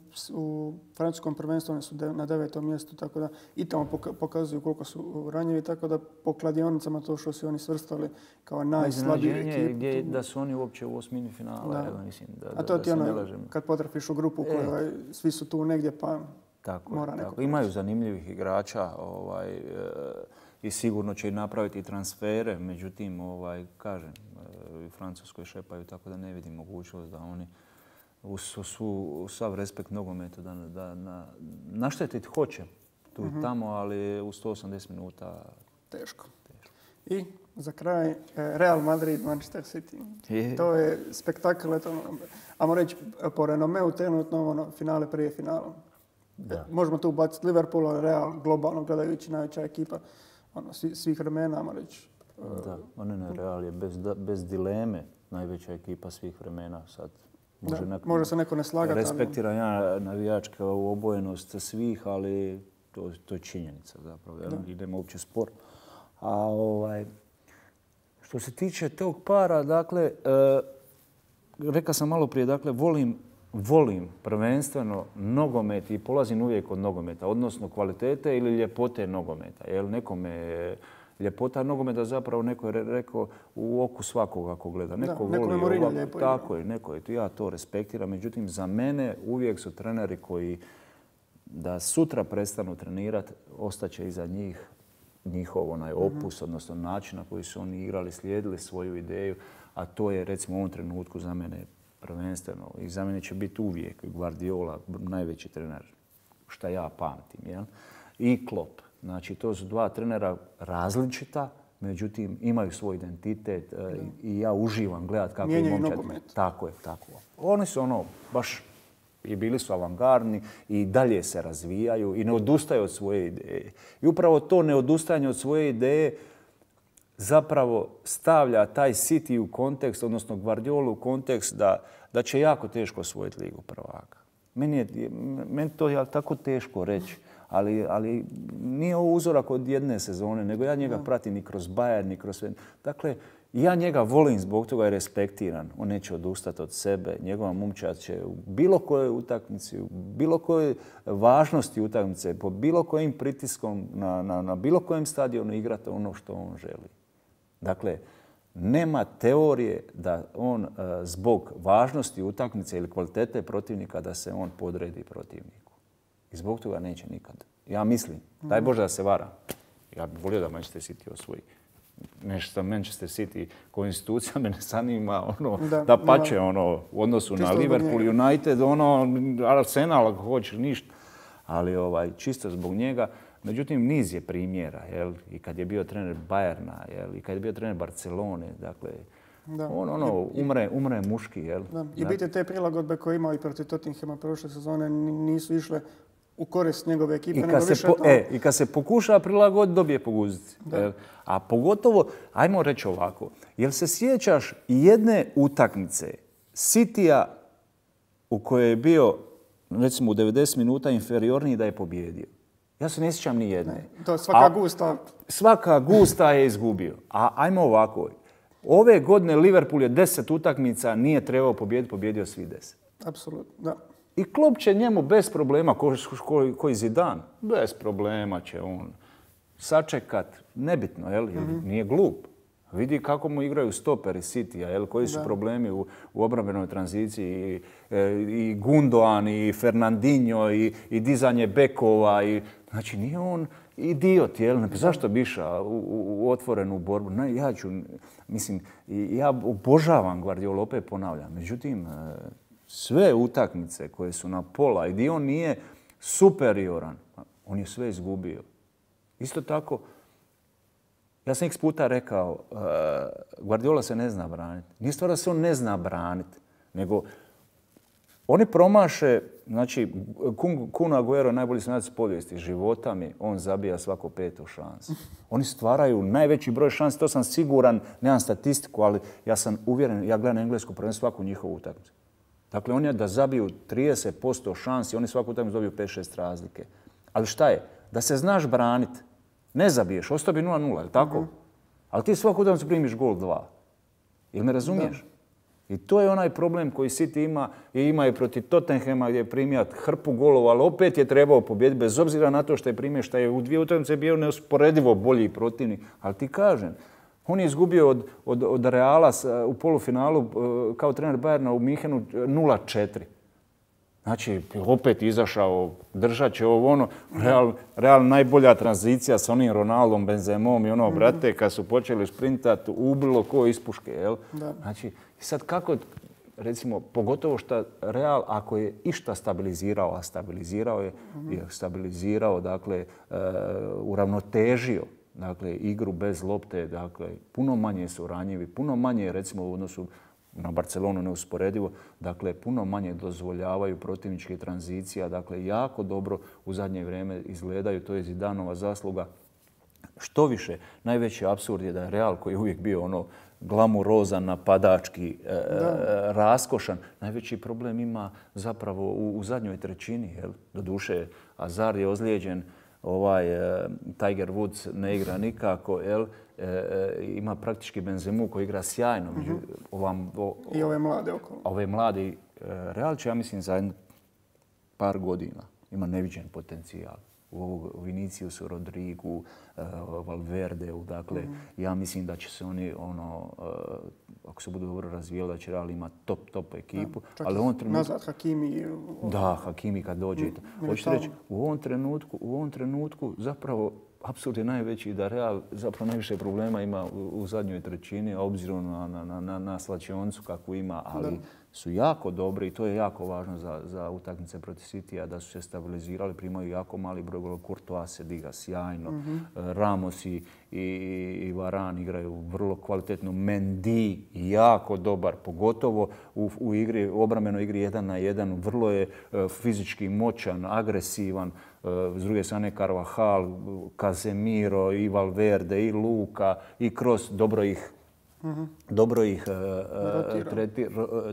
francuskom prvenstvu oni su na 9. mjestu, tako da i tamo pokazuju koliko su ranjivi, tako da po kladionicama to što su oni svrstali kao najslabiju ekipu. Gdje da su oni uopće u osmini finala. Mislim, a to ti kad potrafiš u grupu kojoj svi su tu negdje pa mora neko proći. Imaju zanimljivih igrača i sigurno će i napraviti transfere, međutim, kažem, u Francuskoj šepaju, tako da ne vidim mogućnost da oni sav respekt nogometu da naštetiti hoće tu i tamo, ali u 180 minuta teško. I za kraj Real Madrid, Manchester City. To je spektakl, ajmo reći po renomeu trenutno finale prije finala. Možemo tu ubaciti Liverpool, Real globalno gledajući najveća ekipa svih vremena, ajmo reći. Da, Real je bez dileme najveća ekipa svih vremena sad. Može se neko ne slagati. Respektiram ja navijačku obojenost svih, ali to je činjenica zapravo. Idemo uopće spor. A što se tiče tog para, dakle, rekao sam malo prije, dakle, volim prvenstveno nogomet i polazim uvijek od nogometa, odnosno kvalitete ili ljepote nogometa. Jer nekome ljepota nogometa zapravo neko je rekao u oku svakoga ako gleda. Neko voli lijepo. Tako je, ja to respektiram. Međutim, za mene uvijek su treneri koji da sutra prestanu trenirati, ostaće iza njihov opus, odnosno način na koji su oni igrali, slijedili svoju ideju, a to je recimo u ovom trenutku za mene prvenstveno. I za mene će biti uvijek Guardiola, najveći trener, šta ja pamtim. Jel? I Klopp. Znači, to su dva trenera različita, međutim, imaju svoj identitet i ja uživam gledati kako je momčad. Tako je. Oni su baš i bili su avangardni i dalje se razvijaju i ne odustaju od svoje ideje. I upravo to neodustajanje od svoje ideje zapravo stavlja taj City u kontekst, odnosno Guardiolu u kontekst da će jako teško osvojiti Ligu prvaka. Meni to je tako teško reći. Ali nije ovo uzorak od jedne sezone, nego ja njega pratim i kroz Bayern, i kroz sve. Dakle, Ja njega volim zbog toga je respektiran. On neće odustati od sebe. Njegova momčad će u bilo kojoj utakmici, u bilo kojoj važnosti utakmice, po bilo kojim pritiskom na bilo kojem stadionu igrati ono što on želi. Dakle, nema teorije da on zbog važnosti utakmice ili kvalitete protivnika da se on podredi protivniku. I zbog toga neće nikad. Ja mislim, daj Bože da se varam. Ja bih volio da Manchester City osvoji. Nešto Manchester City ko institucija me ne zanima, da pače u odnosu na Liverpool, United, Arsenal ako hoćeš, ništa. Ali čisto zbog njega. Međutim, niz je primjera, jel? I kad je bio trener Bayerna, jel? I kad je bio trener Barcelone, dakle, umre muški, jel? Da. I biti te prilagodbe koje imao i protiv Tottenhama prošle sezone nisu išle u korist njegove ekipe. I kad se pokuša prilagoditi, dobije po guzici. A pogotovo, ajmo reći ovako, jel se sjećaš jedne utakmice Citya u kojoj je bio, recimo u 90 minuta inferiorniji da je pobjedio? Ja se ne sjećam ni jedne. To svaka gusta. Svaka gusta je izgubio. A ajmo ovako. Ove godine Liverpool je 10 utakmica, nije trebao pobijediti, pobjedio svi 10. Apsolutno, da. I Klopp će njemu bez problema, koji Zidane, bez problema će on sačekat, nebitno, jel? Nije glup. Vidi kako mu igraju stoperi Citya, koji su problemi u obrambenoj tranziciji. I Gundogan, i Fernandinho, i dizanje bekova. Znači, nije on idiot, jel? Zašto bi išao u otvorenu borbu? Ja obožavam Guardiola, opet ponavljam. Međutim, sve utakmice koje su na pola i gdje on nije superioran, on je sve izgubio. Isto tako, ja sam x puta rekao, Guardiola se ne zna braniti. Nije stvar da se on ne zna braniti, nego oni promaše, znači, Kun Aguero, najbolji stranac povijesti, života mi, on zabija svako 5. šansu. Oni stvaraju najveći broj šansi, to sam siguran, nemam statistiku, ali ja sam uvjeren, ja gledam englesku prvenstvo svaku njihovu utakmicu. Dakle, oni da zabiju 30% šansi, oni svaku utakmicu dobiju 5-6 razlike. Ali šta je? Da se znaš braniti. Ne zabiješ, ostao bi 0-0, je tako? Ali ti svaku utakmicu primiš gol 2. Jel me razumiješ? I to je onaj problem koji City ima i ima i protiv Tottenhama gdje je primio hrpu golova, ali opet je trebao pobijediti bez obzira na to što je primio, što je u 2 utakmice bio neusporedivo bolji protivnik. Ali ti kažem, on je izgubio od Reala u polufinalu kao trener Bayerna u Minhenu 0-4. Znači, opet izašao, držat će Real najbolja tranzicija sa onim Ronaldom, Benzemom i brate, kad su počeli sprintati, ubilo ko iz puške, jel? Znači, i sad kako, recimo, pogotovo što Real, ako je išta stabilizirao, a stabilizirao, dakle, uravnotežio, dakle, igru bez lopte, dakle, puno manje su ranjivi, puno manje, recimo, u odnosu na Barcelonu neusporedivo, dakle, puno manje dozvoljavaju protivničke tranzicija, dakle, jako dobro u zadnje vrijeme izgledaju, to je Zidanova zasluga. Što više, najveći apsurd je da je Real, koji je uvijek bio glamurozan, napadački, raskošan, najveći problem ima zapravo u zadnjoj trećini. Doduše, Hazard je ozlijeđen, Tiger Woods ne igra nikako, ima praktički Benzemu koji igra sjajno. I ove mlade okolo. Ove mladi Real će, ja mislim, za par godina ima neviđen potencijal. U Viniciusu, Rodrigu, Valverdeu, dakle, ja mislim da će se oni, ako se budu dobro razvijali, da će Real imati top ekipu. Nazad Hakimi. Da, Hakimi kad dođe. Hoćete reći, u ovom trenutku zapravo apsurd je najveći da Real zapravo najviše problema ima u zadnjoj trećini, a obzirom na slačioncu kakvu ima, ali su jako dobri i to je jako važno za utakmice protiv Citya, da su se stabilizirali, primaju jako mali broj golova. Courtois se diga sjajno, Ramos i Varane igraju vrlo kvalitetno, Mendy jako dobar, pogotovo u obrambenoj igri 1 na 1, vrlo je fizički moćan, agresivan. S druge strane Carvajal, Casemiro, i Valverde, i Luka, i Kroos, dobro ih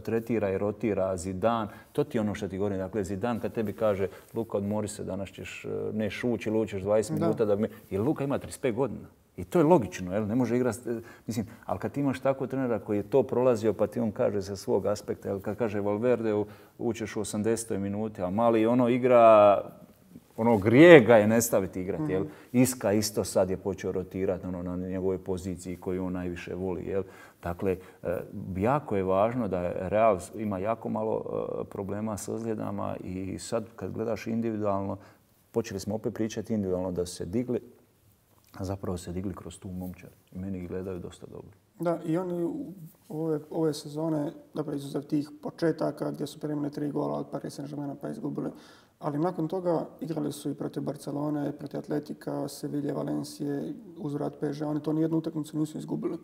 tretira i rotira. Zidane, to ti je ono što ti govorim. Dakle, Zidane kad tebi kaže Luka, odmori se, danas ćeš ne šući, lučeš 20 minuta. Jer Luka ima 35 godina. I to je logično, jel? Ne može igrati, mislim, ali kad imaš tako trenera koji je to prolazio pa ti on kaže sa svog aspekta, jel? Kad kaže Valverde ućeš u 80. minuti, a mali ono igra, ono grije ga je ne staviti igrati, jel? Iska isto sad je počeo rotirati na njegovoj poziciji koju on najviše voli, jel? Dakle, jako je važno da Real ima jako malo problema s ozljedama i sad kad gledaš individualno, počeli smo opet pričati individualno da su se digli, a zapravo se digli kroz tu momčad. I meni ih gledaju dosta dobro. Da, i oni ove sezone, dobro, izuzev tih početaka gdje su primili 3 gola od Paris Saint-Germaina pa izgubili, ali nakon toga igrali su i protiv Barcelone, protiv Atletika, Sevilla, Valencije, uzvrat PSG. Oni to nijednu utakmicu nisu izgubili.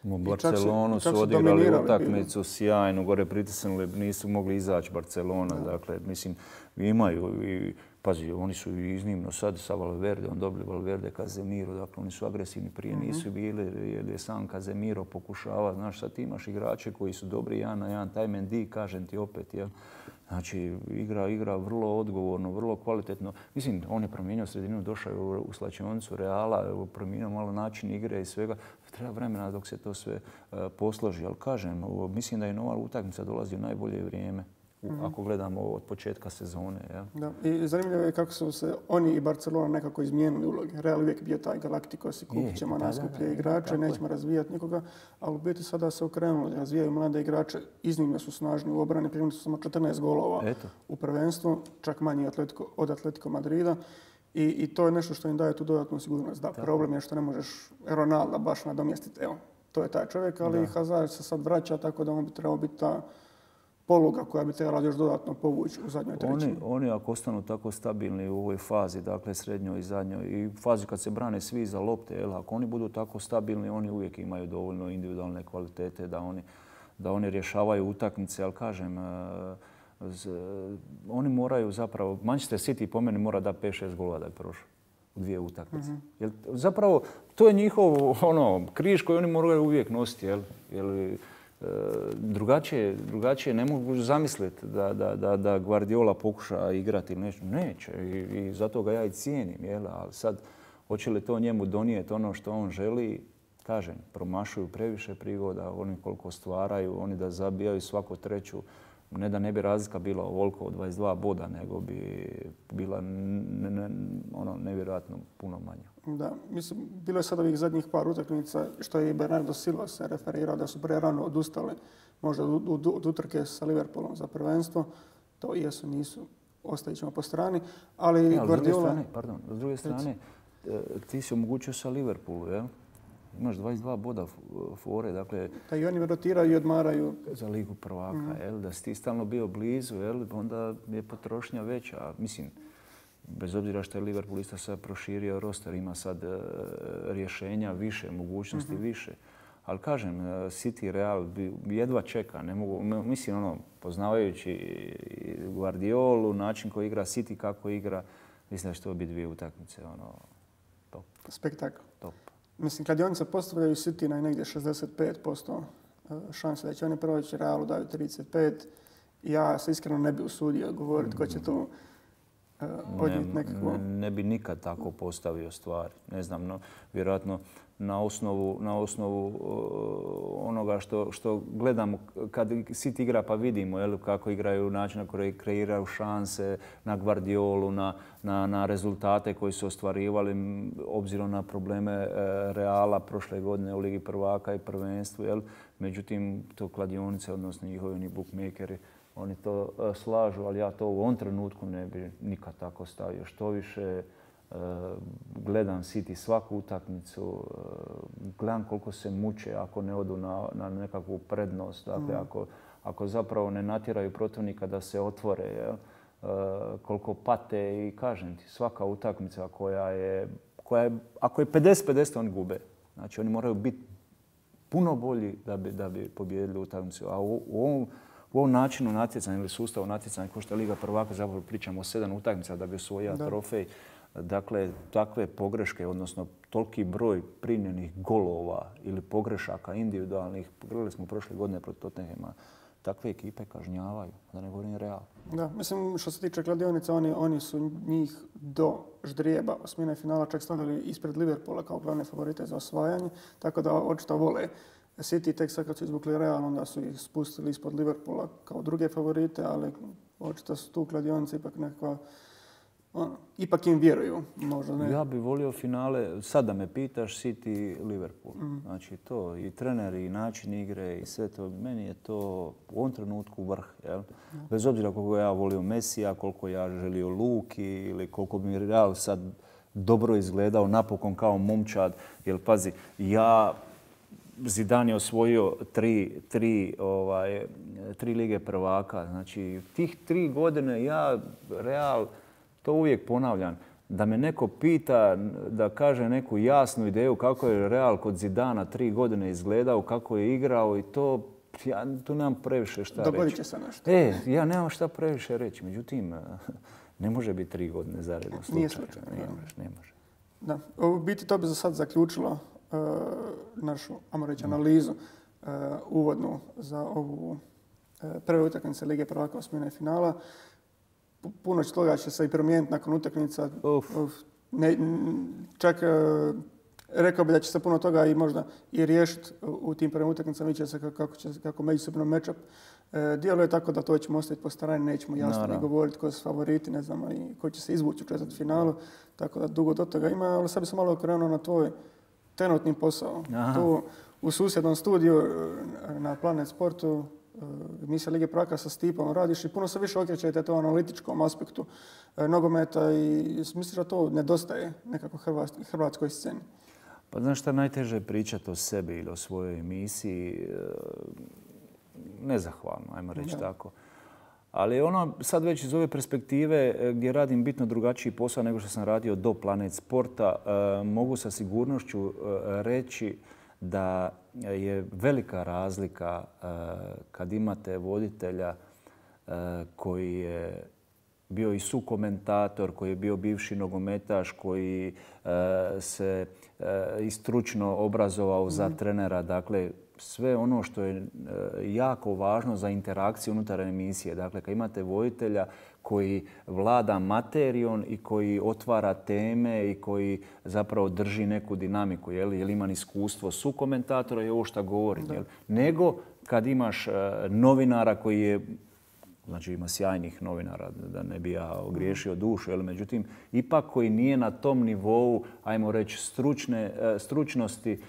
U Barcelonu su odigrali utakmicu sjajnu, gore pritisnuli, nisu mogli izaći Barcelona. Dakle, mislim, imaju i pazi, oni su iznimno sad sa Valverdeom dobili Valverde, Casemiro, dakle oni su agresivni, prije nisu bili jer je sam Casemiro pokušava, znaš, sad ti imaš igrače koji su dobri jedan na jedan, taj Mendy, kažem ti opet, jel? Znači, igra vrlo odgovorno, vrlo kvalitetno. Mislim, on je promijenio sredinu, došao je u slačionicu Reala, promijenio malo način igre i svega. Treba vremena dok se to sve posloži, ali kažem, mislim da je nova utakmica dolazi u najbolje vrijeme. Ako gledamo od početka sezone. Ja. Da. I zanimljivo je kako su se oni i Barcelona nekako izmijenili uloge. Real uvijek bio taj Galacticos i kupit ćemo najskuplje igrače, nećemo razvijati nikoga, ali u biti sada se okrenuli, razvijaju mlade igrače, iznimno su snažni u obrani, primili su samo 14 golova u prvenstvu, čak manje od Atletico Madrida. I to je nešto što im daje tu dodatnu sigurnost. Da, problem je što ne možeš Ronalda baš nadomjestiti. Evo, to je taj čovjek, ali Hazard se sad vraća, tako da on bi trebao biti ta poluga koja bi trebala još dodatno povući u zadnjoj trećini. Oni ako ostanu tako stabilni u ovoj fazi, dakle srednjoj i zadnjoj, i fazi kad se brane svi za lopte, ako oni budu tako stabilni, oni uvijek imaju dovoljno individualne kvalitete da oni rješavaju utakmice, ali kažem, oni moraju zapravo, Manchester City po meni mora da 5-6 golova da je prošao u 2 utakmice. Zapravo, to je njihov križ koji oni moraju uvijek nositi. Drugačije ne mogu zamisliti da Guardiola pokuša igrati ili nešto. Neće i zato ga ja i cijenim. Ali sad, hoće li to njemu donijeti ono što on želi? Kažem, promašuju previše prigoda, oni koliko stvaraju, oni da zabijaju svaku treću. Ne da ne bi razlika bila ovoliko od 22 boda, nego bi bila nevjerojatno puno manja. Da, mislim, bilo je sad ovih zadnjih par utakmica što je i Bernardo Silva se referirao da su prerano odustali možda od utrke sa Liverpoolom za prvenstvo. To jesu, nisu, ostavit ćemo po strani. Ali Guardiola... S druge strane, ti si omogućio sa Liverpoolu, jel? Imaš 22 boda fore, dakle... Da i oni rotiraju i odmaraju. Za ligu prvaka, da si ti stalno bio blizu, onda je potrošnja veća. Mislim, bez obzira što je Liverpool isto sad proširio roster, ima sad rješenja više, mogućnosti više. Ali kažem, City Real jedva čeka. Ne mogu, mislim, poznavajući Guardiolu, način koji igra City, kako igra, mislim da će to biti 2 utakmice, top. Spektakl. Top. Mislim, kladionice postavljaju City na negdje 65% šanse da će oni proći, Realu daju 35%. Ja se iskreno ne bi usudio govoriti ko će tu odnijeti nekako. Ne bi nikad tako postavio stvari. Ne znam, vjerojatno na osnovu onoga što gledamo kad City igra pa vidimo kako igraju, način na koji kreiraju šanse, na Guardiolu, na rezultate koji su ostvarivali obzirom na probleme Reala prošle godine u Ligi prvaka i prvenstvu. Međutim, to kladionice, odnosno njihovi bookmakeri, oni to slažu, ali ja to u ovom trenutku ne bi nikad tako stavio. Što više, gledam City svaku utakmicu, gledam koliko se muče ako ne odu na nekakvu prednost. Dakle, ako zapravo ne natjeraju protivnika da se otvore, koliko pate i kažem ti, svaka utakmica koja je ako je 50-50 oni gube. Znači oni moraju biti puno bolji da bi pobijedili utakmicu. A u ovom načinu natjecanja ili sustavu natjecanja, kao što je Liga prvaka, zapravo pričamo o 7 utakmica da bi osvojio trofej. Dakle, takve pogreške, odnosno toliki broj primljenih golova ili pogrešaka individualnih, gledali smo prošle godine protiv Tottenhama, takve ekipe kažnjavaju, da ne govorim Real. Da, mislim što se tiče kladionica, oni su njih do ždrijeba osmine finala čak stavili ispred Liverpoola kao glavne favorite za osvajanje, tako da očito vole City. Tek sad kad su izvukli Real, onda su ih spustili ispod Liverpoola kao druge favorite, ali očito su tu kladionice ipak nekakva, ipak im vjeruju, možda ne. Ja bih volio finale, sad da me pitaš, City, Liverpool. Znači to, i treneri, i način igre, i sve to, meni je to u ovom trenutku vrh. Jel? Bez obzira koliko ja volio Mesija, koliko ja želio Luki ili koliko bi mi Real sad dobro izgledao, napokon kao momčad. Jer pazi, Zidane je osvojio tri lige prvaka. Znači, tih 3 godine Real, to uvijek ponavljam, da me neko pita, da kaže neku jasnu ideju kako je Real kod Zidana 3 godine izgledao, kako je igrao i to, ja tu nemam previše šta reći. Dogodit će se nešto. Ja nemam šta previše reći, međutim, ne može biti 3 godine zaredno slučaj. Nije slučaj. Ne može. Da. U biti to bi za sad zaključilo našu, ajmo reći, analizu uvodnu za ovu prve utakmice Lige prvaka osmine finala. Puno toga će se i promijeniti nakon utakmica. Čak rekao bi da će se puno toga i možda i riješiti u tim prvim utakmicama. Vidjet će se kako međusobno match-up djeluje, tako da to ćemo ostaviti po strani. Nećemo jasno ni govoriti koji su favoriti, ne znamo i koji će se izvući u četvrtfinalu. Tako da dugo do toga ima, ali sad bi se malo okrenuo na tvoj trenutni posao. Tu u susjednom studiju na Planet Sportu, emisija Lige prvaka sa Stipom radiš i puno se više okrećete to analitičkom aspektu nogometa i misliš da to nedostaje nekako hrvatskoj sceni? Pa znaš šta, najteže je pričati o sebi ili o svojoj emisiji. Nezahvalno, ajmo reći tako. Ali sad već iz ove perspektive gdje radim bitno drugačiji posao nego što sam radio do Planet Sporta, mogu sa sigurnošću reći da je velika razlika kad imate voditelja koji je bio i sukomentator, koji je bio bivši nogometaš, koji se i stručno obrazovao za trenera. Dakle, sve ono što je jako važno za interakciju unutar emisije. Dakle, kad imate voditelja koji vlada materijom i koji otvara teme i koji zapravo drži neku dinamiku, jer ima iskustvo sukomentatora i ovo što govori. Nego kad imaš novinara koji je, znači ima sjajnih novinara, da ne bi ja ogriješio dušu, međutim, ipak koji nije na tom nivou, ajmo reći, stručnosti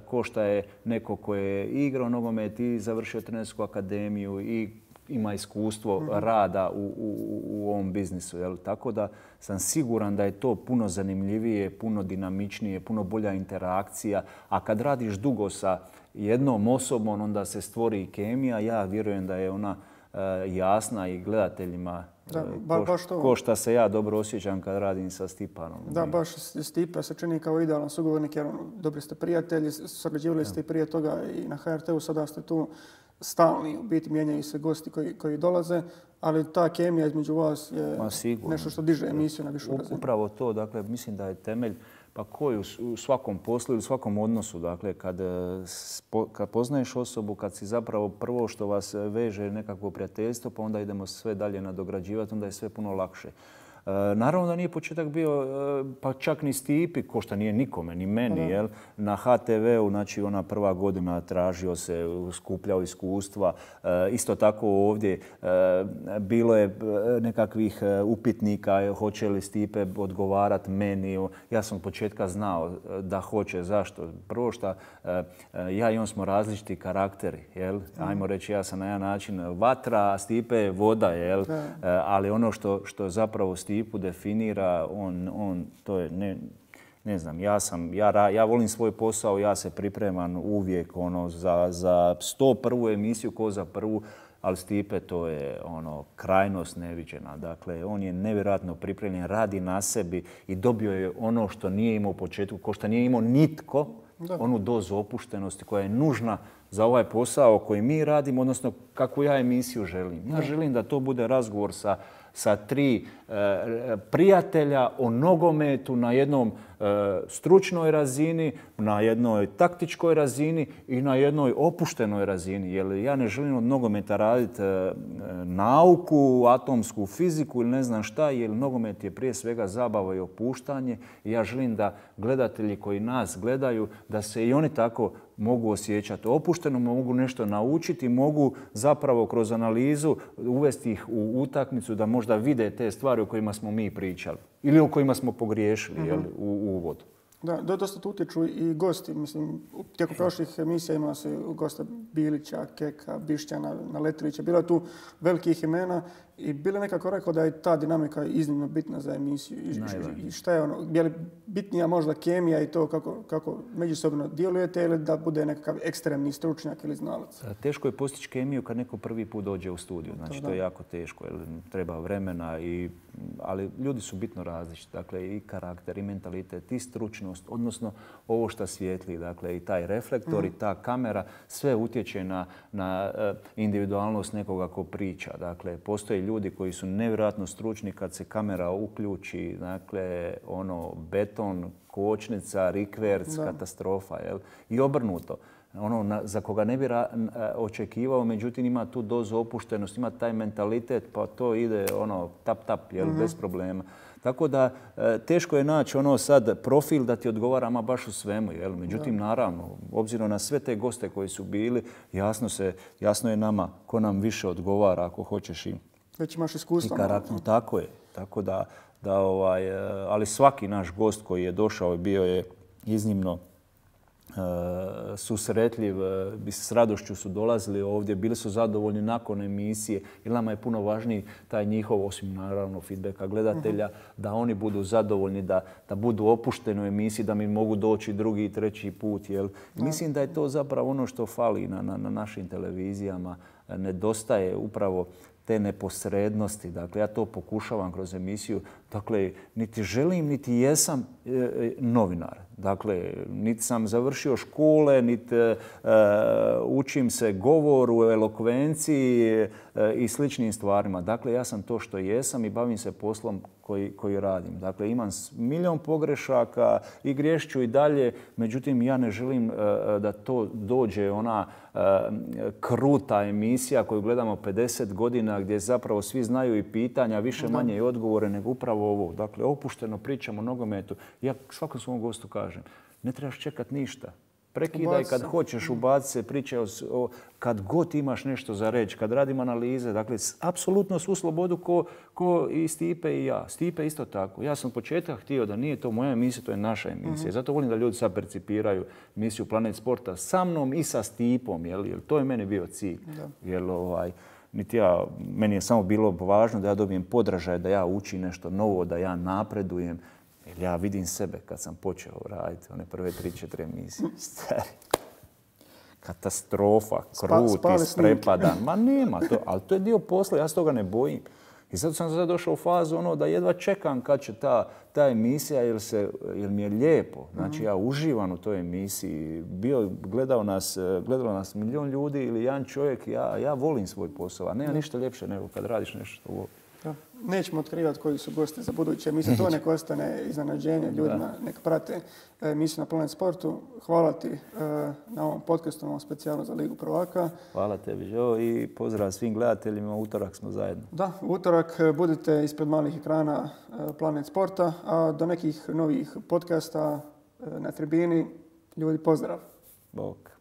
ko što je neko koji je igrao nogomet i završio trenersku akademiju i ima iskustvo rada u ovom biznisu. Tako da sam siguran da je to puno zanimljivije, puno dinamičnije, puno bolja interakcija. A kad radiš dugo sa jednom osobom, onda se stvori i kemija. Ja vjerujem da je ona jasna i gledateljima, ko šta se ja dobro osjećam kad radim sa Stipanom. Da, baš Stipa se čini kao idealan sugovornik jer dobri ste prijatelji, surađivali ste i prije toga i na HRT-u, sada ste tu stalni, u biti mijenjaju se gosti koji dolaze, ali ta kemija između vas je nešto što diže emisiju na višu razinu. Upravo to, dakle, mislim da je temelj, pa koji u svakom poslu ili u svakom odnosu, dakle, kad poznaješ osobu, kad si zapravo prvo što vas veže nekakvo prijateljstvo, pa onda idemo sve dalje nadograđivati, onda je sve puno lakše. Naravno da nije početak bio pa čak ni Stipi, ko što nije nikome, ni meni. Na HTV-u, znači ona prva godina tražio se, skupljao iskustva. Isto tako ovdje bilo je nekakvih upitnika hoće li Stipe odgovarati meni. Ja sam od početka znao da hoće. Zašto? Prvo što ja i on smo različiti karakteri. Ajmo reći, ja sam na jedan način vatra, a Stipe je voda. Ali ono što zapravo Stipu definira, on to je, ne znam, ja volim svoj posao, ja se pripremam uvijek za 101. emisiju ko za prvu, ali Stipe to je krajnost neviđena. Dakle, on je nevjerojatno pripremljen, radi na sebi i dobio je ono što nije imao u početku, ko što nije imao nitko, onu dozu opuštenosti koja je nužna za ovaj posao koji mi radimo, odnosno kakvu ja emisiju želim. Ja želim da to bude razgovor sa tri prijatelja o nogometu na jednom stručnoj razini, na jednoj taktičkoj razini i na jednoj opuštenoj razini. Jer ja ne želim od nogometa raditi nauku, atomsku fiziku ili ne znam šta, jer nogomet je prije svega zabava i opuštanje. I ja želim da gledatelji koji nas gledaju, da se i oni tako mogu osjećati opušteno, mogu nešto naučiti, mogu zapravo kroz analizu uvesti ih u utakmicu da možda vide te stvari o kojima smo mi pričali ili o kojima smo pogriješili u uvodu. Da, dosta tu utječu i gosti. Mislim, tijekom prošlih emisija imala se gosta Bilića, Keka, Bišćana, Naletrovića. Bilo je tu velikih imena i bilo je nekako rekao da je ta dinamika iznimno bitna za emisiju. I šta je ono, je li bitnija možda kemija i to kako međusobno djelujete ili da bude nekakav ekstremni stručnjak ili znalac? Teško je postići kemiju kad neko prvi put dođe u studiju. Znači, to je jako teško, jer treba vremena, ali ljudi su bitno različiti. Dakle, i karakter, i mentalitet, i stručnost, odnosno ovo što svijetli. Dakle, i taj reflektor, i ta kamera, sve utječe na individualnost nekoga ko priča. Dakle, postoje ljudi koji su nevjerojatno stručni kad se kamera uključi, dakle, beton, kočnica, rikverc, katastrofa, jel? I obrnuto. Za koga ne bi očekivao, međutim ima tu dozu opuštenosti, ima taj mentalitet, pa to ide tap, jel, bez problema. Tako da teško je naći sad profil da ti odgovara ama baš u svemu, jel? Međutim, naravno, obzirom na sve te goste koji su bili, jasno je nama ko nam više odgovara ako hoćeš i već imaš iskustva. Tako je. Tako da ali svaki naš gost koji je došao bio je iznimno susretljiv, s radošću su dolazili ovdje, bili su zadovoljni nakon emisije, jer nama je puno važniji taj njihov, osim naravno feedbacka gledatelja, da oni budu zadovoljni, da budu opušteni u emisiji, da mi mogu doći drugi i treći put. Jel? Mislim da je to zapravo ono što fali na našim televizijama. Nedostaje upravo te neposrednosti. Dakle, ja to pokušavam kroz emisiju. Dakle, niti želim, niti jesam novinar. Dakle, niti sam završio škole, niti učim se govoru, elokvenciji i sličnim stvarima. Dakle, ja sam to što jesam i bavim se poslom koji radim. Dakle, imam milion pogrešaka i griješću i dalje. Međutim, ja ne želim da to dođe ona kruta emisija koju gledamo 50 godina gdje zapravo svi znaju i pitanja, više manje i odgovore, nego upravo ovo. Dakle, opušteno pričamo o nogometu. Ja svakom svom gostu kažem, ne trebaš čekati ništa. Prekidaj kad hoćeš, ubaci se, pričaj kad god imaš nešto za reći, kad radim analize. Dakle, apsolutno svu slobodu ko i Stipe i ja. Stipe isto tako. Ja sam od početka htio da nije to moja emisija, to je naša emisija. Zato volim da ljudi sad percipiraju emisiju Planet Sporta sa mnom i sa Stipom. Jer to je meni bio cilj. Meni je samo bilo važno da ja dobijem podražaj, da ja učim nešto novo, da ja napredujem. Jer ja vidim sebe kad sam počeo raditi one prve 3-4 emisije. Stari. Katastrofa, krut, isprepadan. Ma nema to, ali to je dio posla, ja se toga ne bojim. I zato sam sad došao u fazu da jedva čekam kad će ta emisija jer mi je lijepo. Znači ja uživam u toj emisiji. Gledalo nas milion ljudi ili jedan čovjek. Ja volim svoj posao, a nema ništa ljepše nego kad radiš nešto što voliš. Nećemo otkrivati koji su gosti za buduće emisije. To nek ostane iznenađenje ljudima. Nek prate emisiju na Planet Sportu. Hvala ti na ovom podcastu, ovom specijalno za Ligu prvaka. Hvala tebi, Joe, i pozdrav svim gledateljima. U utorak smo zajedno. Da, u utorak budite ispred malih ekrana Planet Sporta, a do nekih novih podcasta na tribini. Ljudi, pozdrav. Bok.